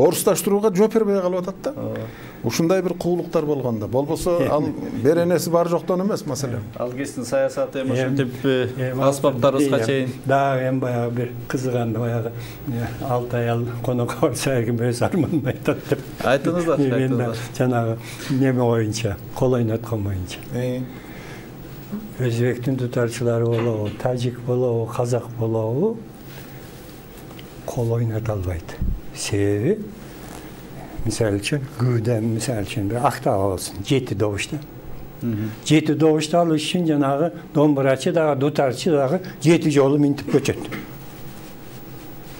Орусташтырууга жооп бербей калып атат да. Ушундай бир куулуктар болгондо. Болбосо ал беренеси бар жоктон эмес маселе. Ал кесиптин саясаты эми ошентип аспаптарыбызга чейин. Дагы эми баягы бир кызыганда баягы алты аял конокко барса эрким өз арманын айтат деп. Айтыңыздар, айтыңыздар. Жанагы неме боюнча, кол ойноткон боюнча. Өзбектин дутарчылары болобу, тажик болобу, казак болобу, кол ойното албайт. Себеби мисалы үчүн күүдөн мисалы үчүн бир октава болсун, жети добушта. Жети добушта алыш үчүн жанагы домбурачы дагы, дутарчы дагы жети жолу минтип көчөт.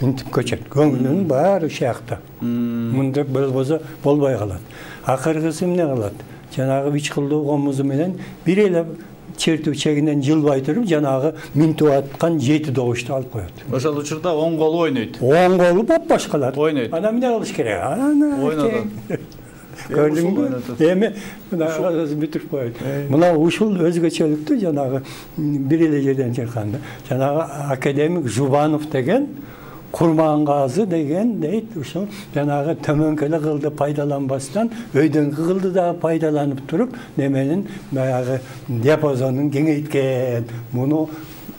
Минтип көчөт. Көңүлүнүн баары ушакта. Мындай болбосо болбой калат. Акыркысы эмне кылат? Жанагы үч кылдуу комузу менен бир эле чертүү чегинен жылбай туруп, жанагы минтип аткан жети добушту алып коет. Ошол учурда оң колу ойнойт. Оң колу бопбош калат. Ойнойт. Ана эмне кылыш керек? Ана ойнойт. Көрдүңбү? Эми мына бүтүп коет. Мына ушул өзгөчөлүктү жанагы бир эле жерден чыкканда, жанагы академик Жубанов деген Курмангазы деген дейт, ушул жанагы төмөнкү эле кылды пайдаланбастан өйдөнгү кылды да пайдаланып туруп, неменин баягы диапазонун кеңейткен. Муну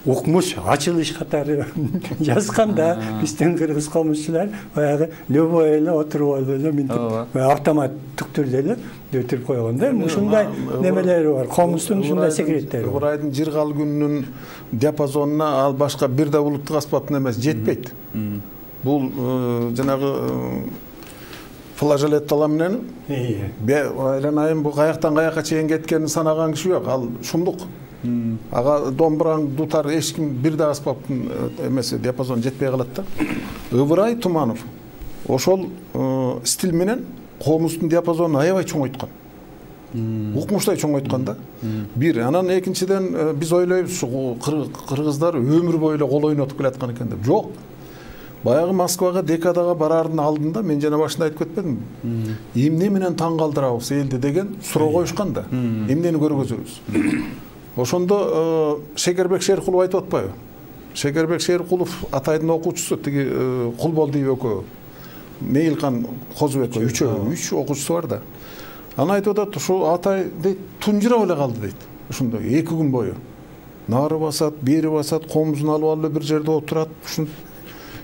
укмуш ачылыш катары жазган да биздин кыргыз комузчулар баягы любой эле отуруп алып эле минтип автоматтык түрдө эле өтүрүп койгон да. Ушундай немелери бар. Комуздун ушундай секреттери бар. Ыбырайдын жыргал күнүнүн диапазонуна ал башка бир да улуттук аспаптын эмес жетпейт. Бул жанагы флажолеттала менен айланайын бул каяктан каякка чейин кеткенин санаган киши жок. Ал шумдук. Ага домбураң дутар эч ким бир да аспаптын эмеси диапазон жетпей калат да. Ыбырай Туманов ошол стиль менен комуздун диапазонун аябай чоңойткон. Укмуштай чоңойткон да. Бир, анан экинчиден биз ойлойбуз кыргыздар өмүр бою эле кол ойнотуп келаткан экен деп. Жок. Баягы Москвага декадага барардын алдында мен жана башында айтып кетпедимби? Эмне менен таң калтырабыз элди деген суроо коюшкан да. Эмнени көргөзөбүз? Ошондо Шекербек Шеркулов айтып атпайбы? Шекербек Шеркулов Атайдын окуучусу, тиги Кулболдиев экөө, Мейлкан Козубек үчөө, үч окуучусу бар да. Аны айтып атат, ушу Атай дейт, тунжурап эле калды дейт. Ошондо эки күн бою. Нары басат, бери басат, комузун алып алып бир жерде отурат, ушун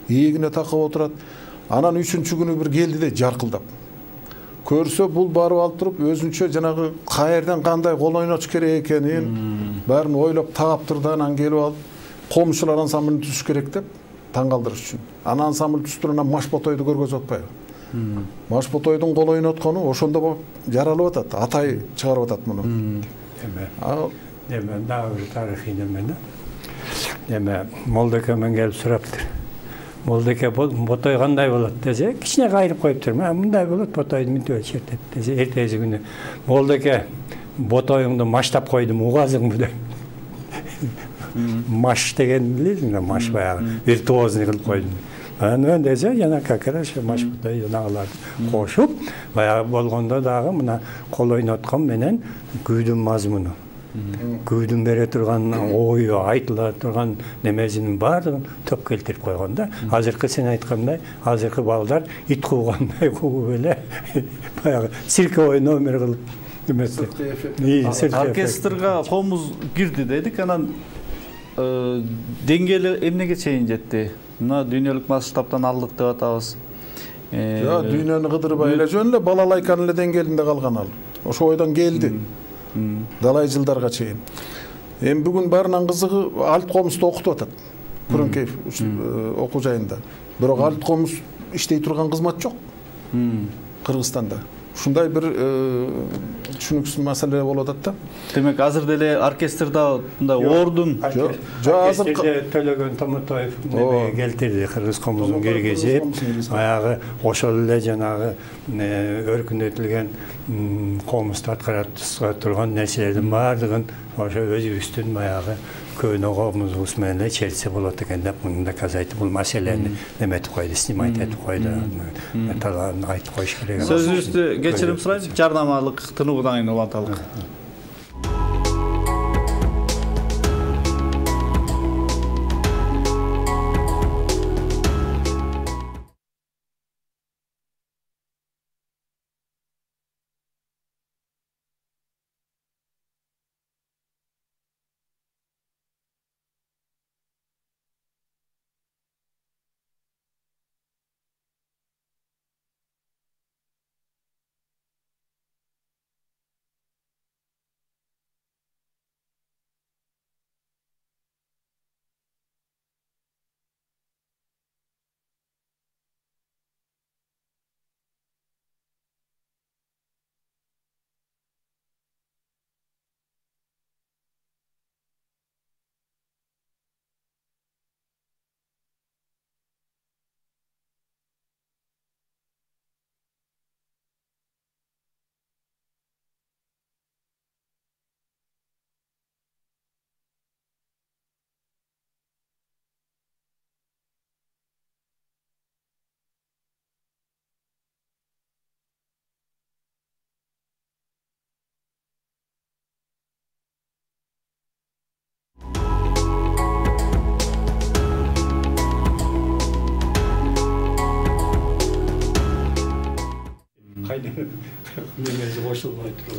эгине такап отурат. Анан үчүнчү күнү бир келди дейт, жаркылдап. Көрсө бул барып алып туруп өзүнчө жанагы каерден кандай кол ойнотуш керек экенин баарын ойлоп таап-турду. Анан келип алып комузчулар ансамблын түзүш керек деп таң калтырыш үчүн. Анан ансамбль түзүп анан Машботойду көргөзүп атпайбы? Машботойдун кол ойноткону ошондо жаралып атат. Атай чыгарып атат муну. Эме. Ал эме дагы бир тарыхый неме да. Эме Молдокемен келип сураптыр. Молдоке Ботой кандай болот десе, кичине кайрып коюптур. Мындай болот, Ботойду мынтип чертет десе, эртеси күнү Молдоке Ботоюңду маштап койдум, угазыңбы деп. Маш деген билесиңби, маш баягы виртуозный кылып койдум. Анан десе, жана как раз маш Ботой жанагыларды кошуп, баягы болгондо дагы мына кол ойноткон менен күйдүн мазмуну, күйдүн бере турган ою, айтыла турган немесинин баардыгын топ келтирип койгон да. Азыркы сен айткандай, азыркы балдар ит куугандай кууп эле баягы цирковой номер кылып эмесе. Оркестрга комуз кирди дедик, анан деңгээли эмнеге чейин жетти? Мына дүйнөлүк масштабтан алдык деп атабыз. Жок, дүйнөнү кыдырбай эле жөн эле балалайканын эле деңгээлинде калган ал. Ошо ойдон келди. Далай жылдарга чейин. Эми бүгүн баарынан кызыгы Алт комузду окутуп атат. Күрөңкеев окуу жайында. Бирок Алт комуз иштей турган кызмат жок. Кыргызстанда. Ушундай бир түшүнүксүз маселе болуп атат да. Демек азыр деле оркестрда мындай ордун жок, азыр Төлөгөн Томутоев неме келтирди, кыргыз комузун киргизип, баягы ошол эле жанагы өркүндөтүлгөн комузду аткара турган нерселердин баардыгын ошо өзүбүздүн баягы көөнө комузубуз менен эле чертсе болот экен деп мында каза айтып, бул маселени неметип койду, снимать этип койду, талаан айтып коюш керек. Сөзүбүздү кечирим сурайм, жарнамалык тынуудан кийин уланталык.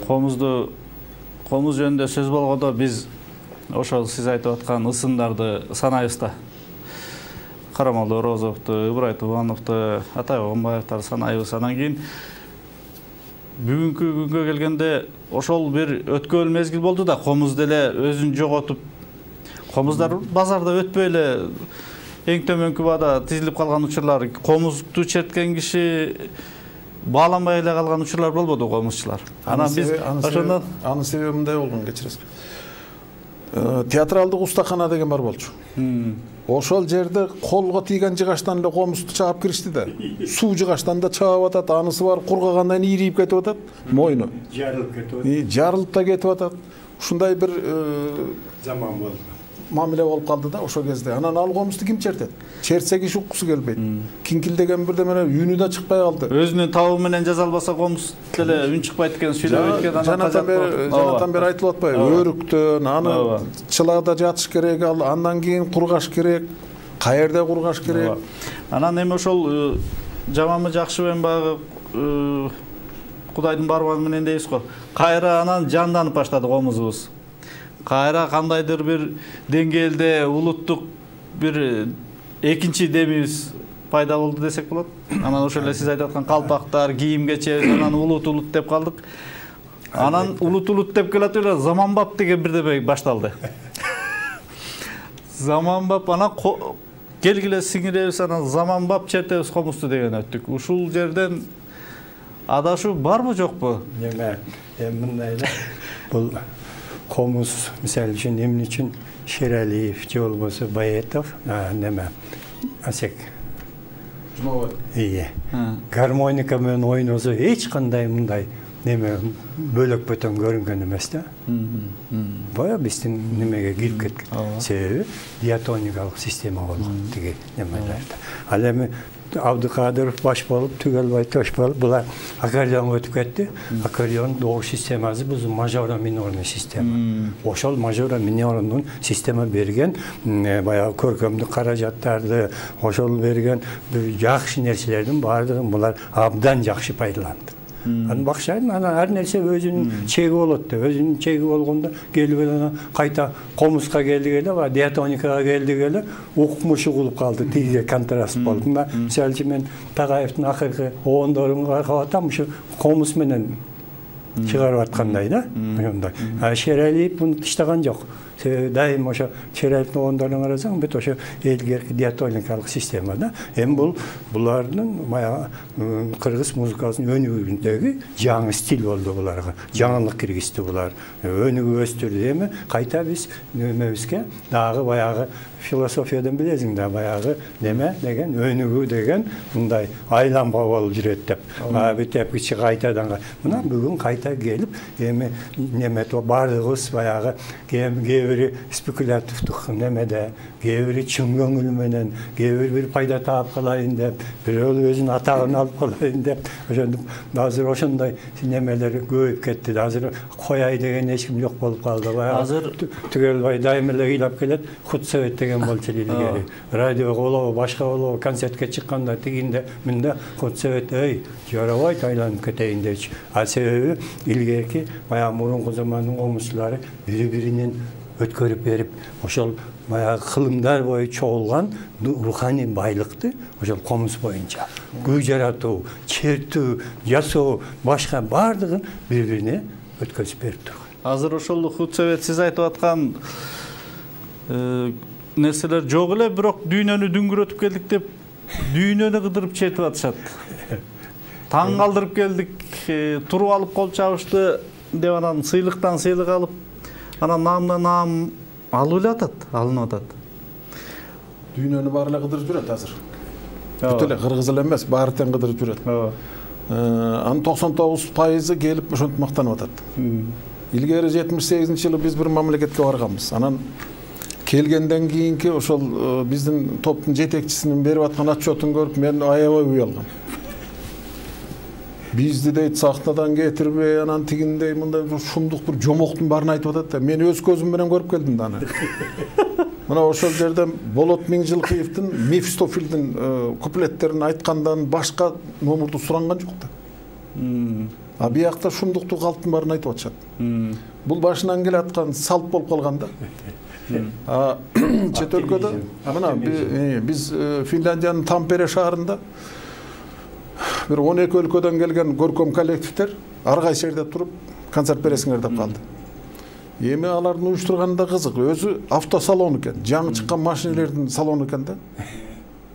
Комузду комуз жөнүндө сөз болгондо биз ошол сиз айтып аткан ысымдарды санайбызда. Карамолдо Орозовду, Ыбырай Тубановду, Атай Огонбаевди санайбыз. Анан кийин бүгүнкү күнгө келгенде ошол бир өткөн мезгил болду да, комуз деле өзүн жоготуп, комуздар базарда өтпөй эле эң төмөнкү баада тизилип калган учурлар, комузду черткен киши бааланбай эле калган учурлар болбоду комузчулар. Анан биз ошондон анын себеби мындай болгон, кечиресиз. Театралдык устакана деген бар болчу. Ошол жерде колго тийген жыгачтан эле комузду чаап киришти да. Суу жыгачтан да чаап атат, анысы бар кургагандан ийрип кетип атат, мойну. Жарылып кетип атат. Жарылып да кетип атат. Ушундай бир заман болду. Мамиле болуп калды да ошол кезде. Анан ал комузду ким чертет? Чертсе киши уккусу келбейт. Кинкилдеген бирде менен үнү да чыкпай калды. Өзүнүн табы менен жаза албаса комуз деле үн чыкпайт экен, сүйлөбөйт экен. Жанатан бери айтылып атпайбы? Өрүктөн, аны чылаада жатыш керек, андан кийин кургаш керек. Каерде кургаш керек. Анан эми ошол жаманбы жакшыбы эми баягы Кудайдын бармагы менен дейбиз го. Кайра анан жанданып баштады комузубуз. Кайра кандайдыр бир деңгээлде улуттук бир экинчи демибиз пайда болду десек болот. Анан ошол эле сиз айтып аткан калпактар, кийим кечебиз анан улут улут деп калдык. Анан улут улут деп келатып эле заманбап деген бирдеме башталды. Заманбап анан келгиле сиңиребиз, анан заманбап чертебиз комузду деген өттүк. Ушул жерден адашуу барбы жокпу? Эме, эми мындай эле. Бул комуз мисалы үчүн эмне үчүн Шералиев же болбосо Баетов, неме Асек Жумабаев. Ие. Гармоника менен ойносо эч кандай мындай неме бөлөк бөтөн көрүнгөн эмес да. Бая биздин немеге кирип кеткен. Себеби диатоникалык система болгон тиги немелерде. Ал эми Абдыкадыров баш болуп, Түгелбай тош болуп, булар аккордеонго өтүп кетти. Аккордеон добуш системасы бул мажоро минорный система. Ошол мажоро минорный система берген баягы көркөмдүк каражаттарды, ошол берген жакшы нерселердин баардыгын булар абдан жакшы пайдаланды. Анан бакшайын, анан ар нерсе өзүнүн чеги болот да. Өзүнүн чеги болгондо келип эле кайта комузга келдик эле, диатоникага келдик эле, укмушу кылып калды, тиге контраст болуп. Мына мисалы үчүн мен Тагаевдин акыркы оондорун карап атам, ушу комуз менен чыгарып аткандай да. Ошондой. А Шералиев муну иштаган жок. Себеби дайым ошо Шералиевдин оондорун карасаң, бүт ошо элгерки диатоникалык система да. Эми бул булардын баягы кыргыз музыкасынын өнүгүүндөгү жаңы стиль болду буларга. Жаңылык киргизди булар. Өнүгүп өстүрдү. Эми кайта биз немебизге дагы баягы философиядан билесиң да, баягы неме деген өнүгүү деген мындай айланма болуп жүрөт деп. А бүтөп кичи кайтадан мына бүгүн кайта келип, эми неме баардыгыбыз баягы кээ бири спекулятивдик немеде, кээ бири чын көңүл менен, кээ бири бир пайда таап калайын деп, бирөө өзүнүн атагын алып калайын деп, ошондук азыр ошондой немелер көбөйүп кетти. Азыр кояй деген эч ким жок болуп калды. Азыр Түгелбай дайым эле ыйлап келет, худсовет деген болчу илгери. Радио болобу, башка болобу, концертке чыкканда тигинде мында худсовет эй, жарабайт айланып кетейин депчи. А себеби илгерки баягы мурунку замандын комузчулары бири-биринен өткөрүп берип, ошол баягы кылымдар бою чогулган руханий байлыкты ошол комуз боюнча күй жаратуу, чертүү, жасоо, башка баардыгын бири-бирине өткөзүп берип турган. Азыр ошол худсовет сиз айтып аткан нерселер жок эле, бирок дүйнөнү дүңгүрөтүп келдик деп дүйнөнү кыдырып чертип атышат. Таң калтырып келдик, туруп алып кол чабышты деп анан сыйлыктан сыйлык алып, анан наамдан наам алып эле атат, алынып атат. Дүйнөнү баары эле кыдырып жүрөт азыр. Бүт эле кыргыз эле эмес, баары тең кыдырып жүрөт. Анын токсон тогуз пайызы келип ошентип мактанып атат. Илгери жетимиш сегизинчи жылы биз бир мамлекетке барганбыз. Анан келгенден кийинки ошол биздин топтун жетекчисинин берип аткан отчетун көрүп мен аябай уялгам. Бизди дейт сахнадан кетирбей, анан тигиндей мындай шумдук бир жомоктун баарын айтып атат да. Мен өз көзүм менен көрүп келдим да аны. Мына ошол жерден Болот Миңжилкыевдин Мефистофилдин куплеттерин айткандан башка номурду суранган жок да. А биякта шумдукту калптын баарын айтып атышат. Бул башынан келе аткан салт болуп калган да. Чет өлкөдө мына биз Финляндиянын Тампере шаарында бир он эки өлкөдөн келген көркөм коллективдер ар кайсы жерде туруп концерт бересиңер деп калды. Эми алардын уюштурганы да кызык. Өзү автосалон экен, жаңы чыккан машинелердин салону экен да.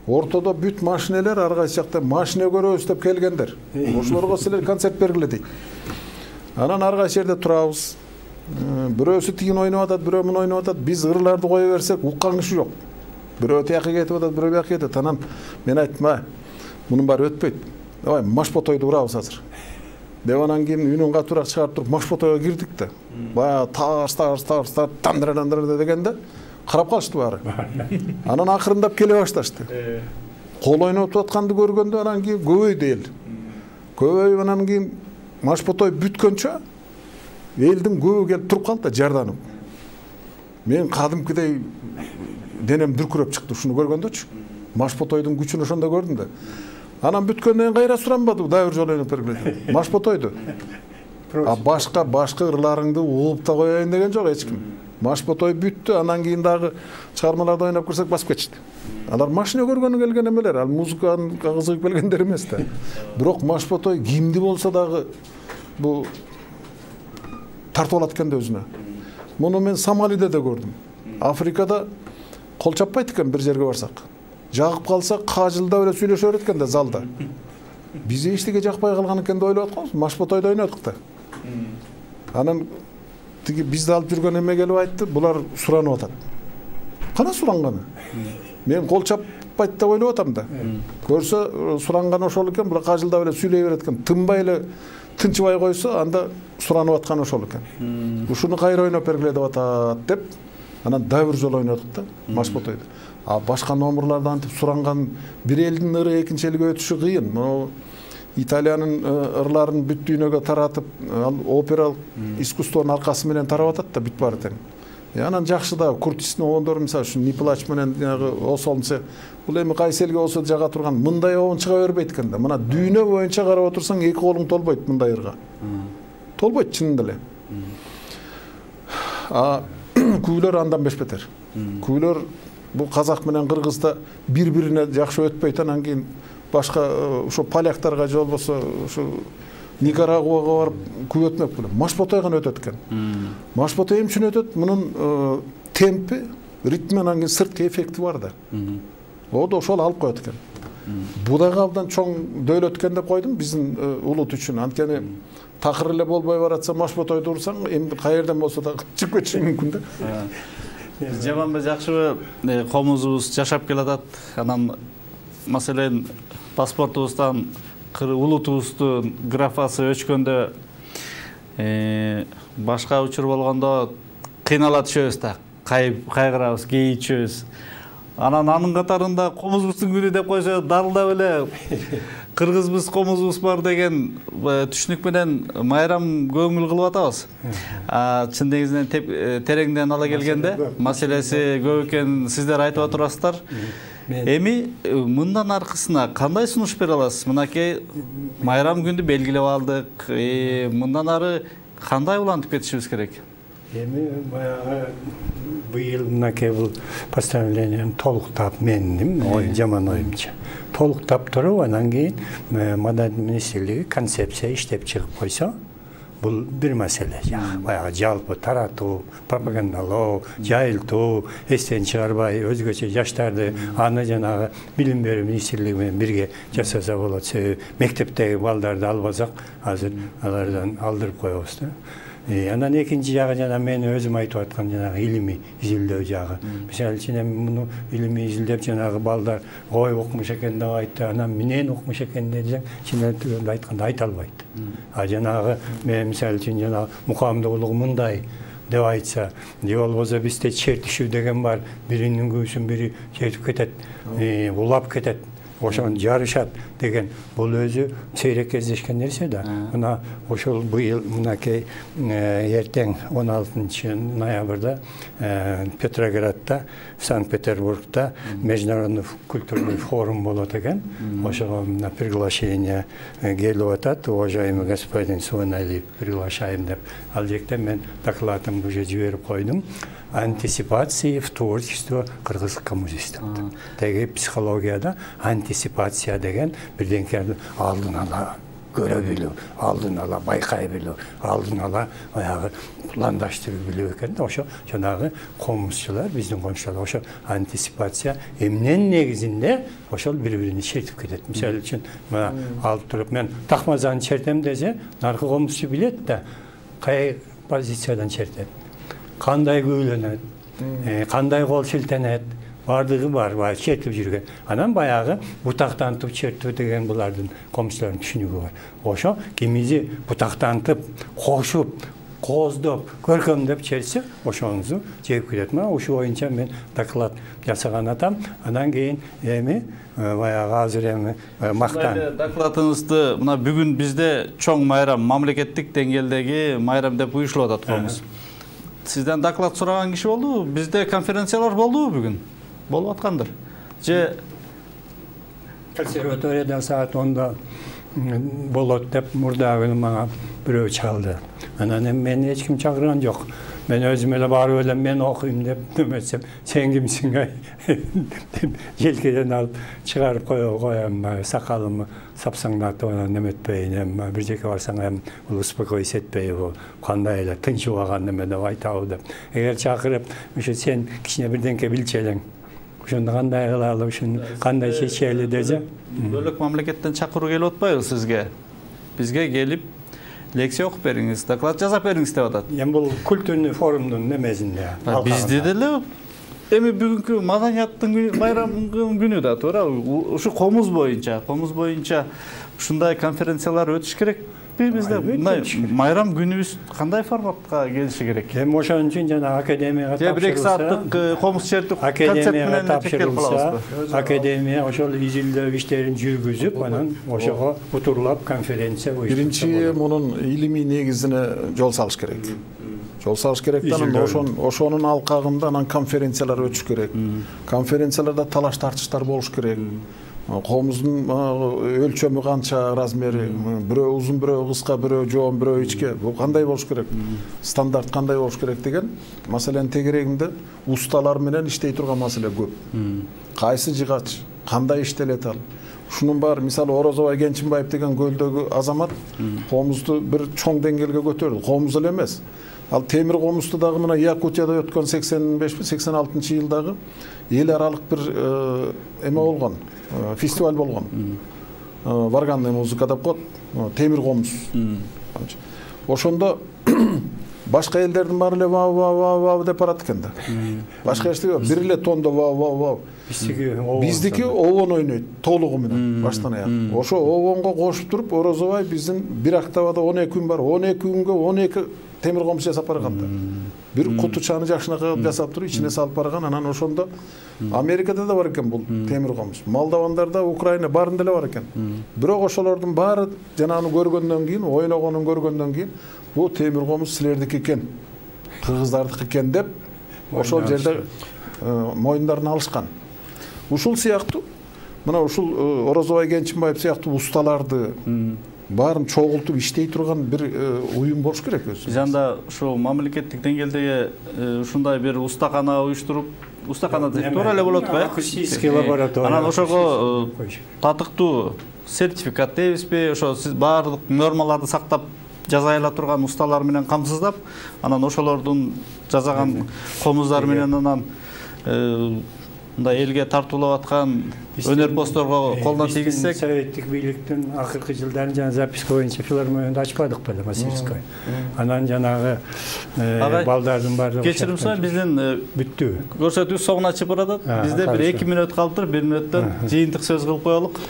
Ортодо бүт машинелер ар кайсы жакта машина көрөбүз деп келгендер. Ошолорго силер концерт бергиле дейт. Анан ар кайсы жерде турабыз. Бирөөсү тигин ойноп атат, бирөө муну ойноп атат. Биз ырларды кое берсек, уккан киши жок. Бирөө тияка кетип атат, бирөө бияка кетет. Анан мен айттым, а, мунун баары өтпөйт. Давай машпотойду урабыз азыр. Деп анан кийин үнүн катуураак чыгарып туруп машпотойго кирдик да. Баягы тарс тарс тарс тарс тандыра тандыра дегенде карап калышты баары. Анан акырындап келе башташты. Кол ойноп атканды көргөндө анан кийин көбөйдү эл. Көбөйүп анан кийин машпотой бүткөнчө элдин көбү келип туруп калды да жарданып. Мен кадимкидей денем дүркүрөп чыкты ушуну көргөндөчү. Машпотойдун күчүн ошондо көрдүм да. Анан бүткөндөн кайра суранбады, дайыр жолу ойноп бергиле. Машпотойду. А башка башка ырларыңды угуп да коеюн деген жок эч ким. Машпотой бүттү, анан кийин дагы чыгармаларды ойноп көрсөк басып кетишти. Алар машина көргөнү келген эмелер, ал музыканы кызыгып келгендер эмес да. Бирок машпотой кимди болсо дагы бу тартып алат экен да өзүнө. Муну мен Сомалиде да көрдүм. Африкада кол чаппайт экен бир жерге барсак. Жагып калса кажылдап эле сүйлөшө берет экен да залда. Биз эчтеге жакпай калган экен деп ойлоп атканбыз. Машпотойду ойнодук да. Анан тиги бизди алып жүргөн эме келип айтты, булар суранып атат. Кана суранганы? Мен кол чаппайт деп ойлоп атам да. Көрсө суранган ошол экен, булар кажылдап эле сүйлөй берет экен. Тынбай эле тынчыбай койсо, анда суранып аткан ошол экен. Ушуну кайра ойноп бергиле деп атат деп, анан дагы бир жолу ойнодук да машпотойду. А башка номерларда антип суранган бир элдин ыры экинчи элге өтүшү кыйын. Могу Италиянын ырларын бүт дүйнөгө таратып, ал опералык искусствонун аркасы менен тарап атат да бүт баары тең. Анан жакшы да Куртистин оондору мисалы үчүн Ниплач менен Осолнсе бул эми кайсы элге болсо жага турган мындай оон чыга бербейт экен да. Мына дүйнө боюнча карап отурсаң эки колуң толбойт мындай ырга. Толбойт чынында эле. А күйлөр андан бешбетер. Күйлөр бул казак менен кыргызда бири-бирине жакшы өтпөйт, анан кийин башка ошо поляктарга же болбосо ошо Никарагуага барып күп өтмөк беле. Машпотой гана өтөт экен. Машпотой эмне үчүн өтөт? Мунун темпи, ритми, анан кийин сырткы эффекти бар да. О да ошол алып коет экен. Бу дагы абдан чоң дөөлөт экен деп койдум биздин улут үчүн. Анткени такыр эле болбой баратса машпотойду урсаң, эми кай жерден болсо да чыгып кетиши мүмкүн да. Жаманбы жакшыбы комузубуз жашап келатат. Анан маселен паспортубуздан улутубуздун графасы өчкөндө башка учур болгондо кыйнала түшөбүз да, кайгырабыз, кейичебиз. Анан анын катарында комузубуздун күнү деп койсо дарылдап эле кыргызбыз, комузубуз бар деген түшүнүк менен майрам көңүл кылып атабыз. Чын негизинен тереңден ала келгенде маселеси көп экенин сиздер айтып атасыздар. Эми мындан аркысына кандай сунуш бере аласыз? Мынакей майрам күндү белгилеп алдык. Мындан ары кандай улантып кетишибиз керек? Эми баягы быйыл мынакей бул постановлениени толуктап, менин ой жаман оюмча толуктап туруп, анан кийин Маданият министрлиги концепция иштеп чыгып койсо, бул бир маселе. Баягы жалпы таратуу, пропагандалоо, жайылтуу, эстен чыгарбай өзгөчө жаштарды аны жанагы билим берүү министрлиги менен бирге жасаса болот. Себеби мектептеги балдарды албасак, азыр алардан алдырып коебуз да. Анан экинчи жагы жана мен өзүм айтып аткан жанагы илимий изилдөө жагы. Мисалы үчүн эми муну илимий изилдеп жанагы балдар ой окумуш экен деп айтты, анан менен окумуш экен десең, чын айтканда айта албайт. А жанагы мен мисалы үчүн жанагы мукамдуулугу мындай деп айтса, же болбосо бизде чертишүү деген бар, биринин күбүсүн бири чертип кетет, улап кетет. ошону жарышат деген бул өзү сейрек кездешкен нерсе да. Мына ошол быйыл мынакей эртең он алтынчы ноябрда Петроградда, Санкт-Петербургда международный культурный форум болот экен. Ошого на приглашение келип атат. Уважаемый господин Суаналиев, приглашаем деп. Ал жекте мен докладымды уже жиберип койдум. Антисипации в творчество кыргыз коммунистов. Теги психологияда антисипация деген бирденкени алдын ала көрө билүү, алдын ала байкай билүү, алдын ала баягы пландаштырып билүү экен да. Ошо жанагы комузчулар, биздин комузчулар ошо антисипация эмненин негизинде ошол бири-бирини чертип кетет. Мисалы үчүн мына алып туруп мен такмазаны чертем десе, наркы комузчу билет да кай позициядан чертет, кандай күүлөнөт, кандай кол шилтенет, бардыгы бар, баягы чертип жүргөн. Анан баягы бутактантып чертүү деген булардын комузчулардын түшүнүгү бар. Ошо кимизи бутактантып, кошуп, кооздоп, көркөмдөп чертсе, ошоңузу жеп кетет. Мына ушул боюнча мен доклад жасаган атам. Анан кийин эми баягы азыр эми мактан. Докладыңызды мына бүгүн бизде чоң майрам, мамлекеттик деңгээлдеги майрам деп уюштулуп атат комуз. Сизден доклад сураган киши болдубу? Бизде конференциялар болдубу бүгүн? Болуп аткандыр. Же консерваторияда саат онда болот деп мурдагы мага бирөө чалды. Анан эми мени эч ким чакырган жок. Мен өзүм эле барып элем, мен окуйм деп деметсем, сен кимсиң ай? Желкеден алып чыгарып коем, сакалымы сапсаңдатып анан неметпейин, эми бир жерге барсаң эми успокоить этпейби, бул кандай эле тынчып алган неме деп айтабы деп. Эгер чакырып, ошо сен кичине бирденке билчи элең. Ошондо кандай кылалы, ушуну кандай чечели десе. Бөлөк мамлекеттен чакыруу келип атпайбы сизге? Бизге келип лекция окуп бериңиз, доклад жасап бериңиз деп атат. Эми бул культурный форумдун немесинде. Бизде деле эми бүгүнкү маданияттын майрамдын күнү да туура. Ушу комуз боюнча, комуз боюнча ушундай конференциялар өтүш керек. Бизде майрам күнүбүз кандай форматка келиши керек? Эми ошон үчүн жана академияга тапшырылса, бир эки сааттык комуз чертип академияга тапшырылса, академия ошол изилдөө иштерин жүргүзүп, анан ошого утурлап конференция уюштурса. Биринчи мунун илимий негизине жол салыш керек. Жол салыш керек да, анан ошон ошонун алкагында анан конференциялар өтүш керек. Конференцияларда талаш тартыштар болуш керек. Комуздун өлчөмү канча, размери, бирөө узун, бирөө кыска, бирөө жоон, бирөө ичке, бул кандай болуш керек? Стандарт кандай болуш керек деген маселенин тегерегинде усталар менен иштей турган маселе көп. Кайсы жыгач, кандай иштелет ал? Ушунун баары, мисалы Орозобай Кенчинбаев деген көлдөгү азамат комузду бир чоң деңгээлге көтөрдү. Комуз эле эмес. Ал темир комузду дагы мына Якутияда өткөн сексен беш сексен алтынчы жылдагы эл аралык бир эме болгон, фестиваль болгон. Варганный музыка деп коет, темир комуз. Ошондо башка элдердин баары эле вау вау вау вау деп барат экен да. Башка эчтеке бир эле тондо вау вау вау. Биздики обон ойнойт толугу менен баштан аяк. Ошо обонго кошуп туруп Орозобай биздин бир октавада он эки күн бар, он эки күнгө он эки темир комуз жасап барган да. Бир кутучаны жакшынакай жасап туруп ичине салып барган. Анан ошондо Америкада да бар экен бул темир комуз. Молдовандарда, Украина баарында эле бар экен. Бирок ошолордун баары жанагыны көргөндөн кийин, ойногонун көргөндөн кийин бул темир комуз силердики экен, кыргыздардыкы экен деп ошол жерде моюндарын алышкан. Ушул сыяктуу мына ушул Орозобай Кенчинбаев сыяктуу усталарды баарын чогултуп иштей турган бир уюм болуш керек өзү. Жанда ушул мамлекеттик деңгээлдеги ушундай бир устакана уюштуруп, устакана деп туура эле болот го, акустический лаборатория. Анан ошого татыктуу сертификат дейбизби, ошо сиз баардык нормаларды сактап жасай ала турган усталар менен камсыздап, анан ошолордун жасаган комуздар менен анан мындай элге тартуулап аткан өнөрпоздорго колдон тийгизсек, советтик бийликтин акыркы жылдарын жана записка боюнча филармонияны ачпадык беле, мастерской. Анан жанагы балдардын баардыгы кечирим сурайм, биздин бүттү. Көрсөтүү соңуна чыгып баратат. Бизде бир эки мүнөт калыптыр, бир мүнөттөн жыйынтык сөз кылып коелук.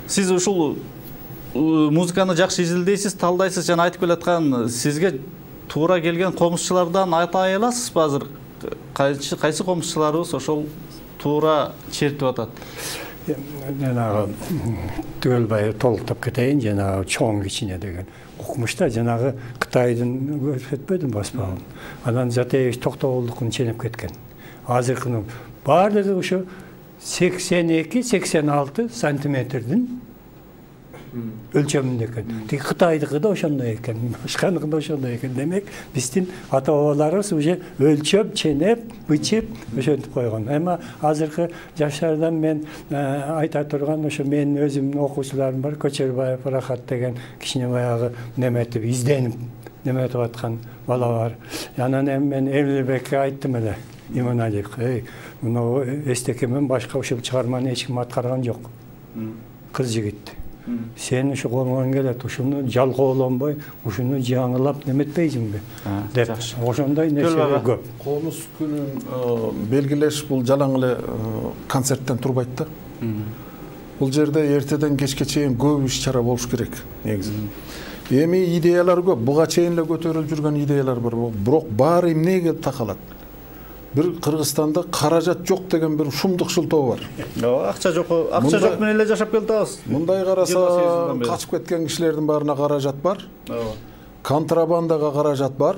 Сиз ушул музыканы жакшы изилдейсиз, талдайсыз, жана айтып келаткан сизге туура келген комузчулардан айтай аласызбы азыр? Кайсы кайсы комузчуларыбыз ошол туура чертип атат? жанагы түгөлбай толуктап кетейин, жанагы чоң кичине деген укмушта жанагы Кытайдын көрсөтпөдүм баспагын. Анан Затаевич Токтогулдукун ченеп кеткен. Азыркынын баардыгы ушу сексен эки сексен алты сантиметрдин өлчөмүндө экен. Тиги Кытайдыкы да ошондой экен, башканыкы да ошондой экен. Демек, биздин ата-бабаларыбыз уже өлчөп, ченеп, бычып, ошентип койгон. Эми азыркы жаштардан мен айта турган, ошо менин өзүмдүн окуучуларым бар, Көчөрбаев Рахат деген кичине баягы неметип, изденип, неметип аткан бала бар. Анан эми мен Эмилбекке айттым эле, Иманалиев, эй, мына эстекемен башка ушул чыгарманы эч ким аткарган жок. Кыз жигит. Сен ушу колуңан келет, ушуну жалкоолонбой, ушуну жаңылап неметпейсиңби деп ошондой нерселер көп. Комуз күнүн белгилеш бул жалаң эле концерттен турбайт да. Бул жерде эртеден кечке чейин көп иш чара болуш керек негизи. Эми идеялар көп, буга чейин эле көтөрүлүп жүргөн идеялар бар, бирок баары эмнеге келип такалат? Бир Кыргызстанда каражат жок деген бир шумдук шылтоо бар. Акча жок, акча жок менен эле жашап келатабыз. Мындай караса, качып кеткен кишилердин баарына каражат бар. Контрабандага каражат бар.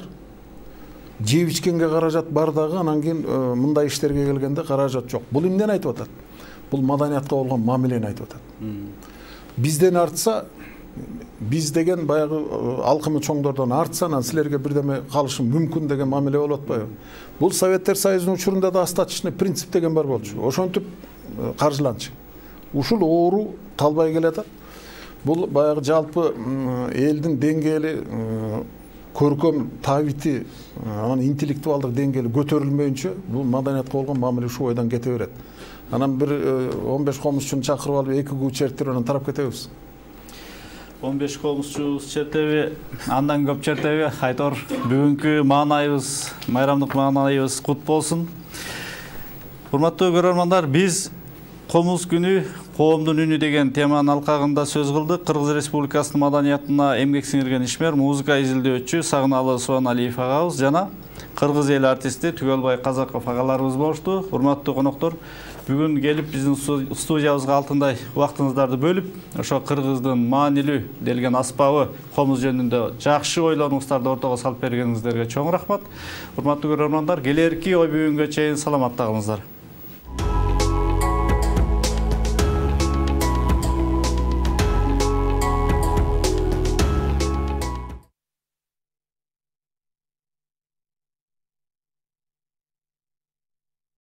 Жеп ичкенге каражат бар дагы, анан кийин мындай иштерге келгенде каражат жок. Бул эмнени айтып атат? Бул маданиятка болгон мамилени айтып атат. Бизден артса, биз деген баягы алкымы чоңдордон артса, анан силерге бирдеме калышы мүмкүн деген мамиле болуп атпайбы? Бул Советтер Союзунун учурунда да остаточный принцип деген бар болчу. Ошентип каржыланчы. Ушул оору талбай келатат. Бул баягы жалпы элдин деңгээли, көркөм табити, анан интеллектуалдык деңгээли көтөрүлмөйүнчө бул маданиятка болгон мамиле ушул ойдон кете берет. Анан бир он беш комузчуну чакырып алып эки күү чертип анан тарап кетебиз. он беш комузчу чертеби, андан көп чертеби. Айтор, бүгүнкү маанайыбыз, майрамдык маанайыбыз кут болсун. Урматтуу көрөрмандар, биз Комуз күнү коомдун үнү деген теманын алкагында сөз кылдык. Кыргыз Республикасынын маданиятына эмгек сиңирген ишмер, музыка изилдөөчү Сагыналы Субаналиев агабыз жана кыргыз эл артисти Түгөлбай Казаков агаларыбыз болушту. Урматтуу коноктор, бүгүн келип биздин студиябызга алтындай убактыңыздарды бөлүп, ошо кыргыздын маанилүү делген аспабы комуз жөнүндө жакшы ойлонуңуздарды ортого салып бергениңиздерге чоң рахмат. Урматтуу көрөрмандар, келерки ой бүгүнгө чейин саламатта калыңыздар.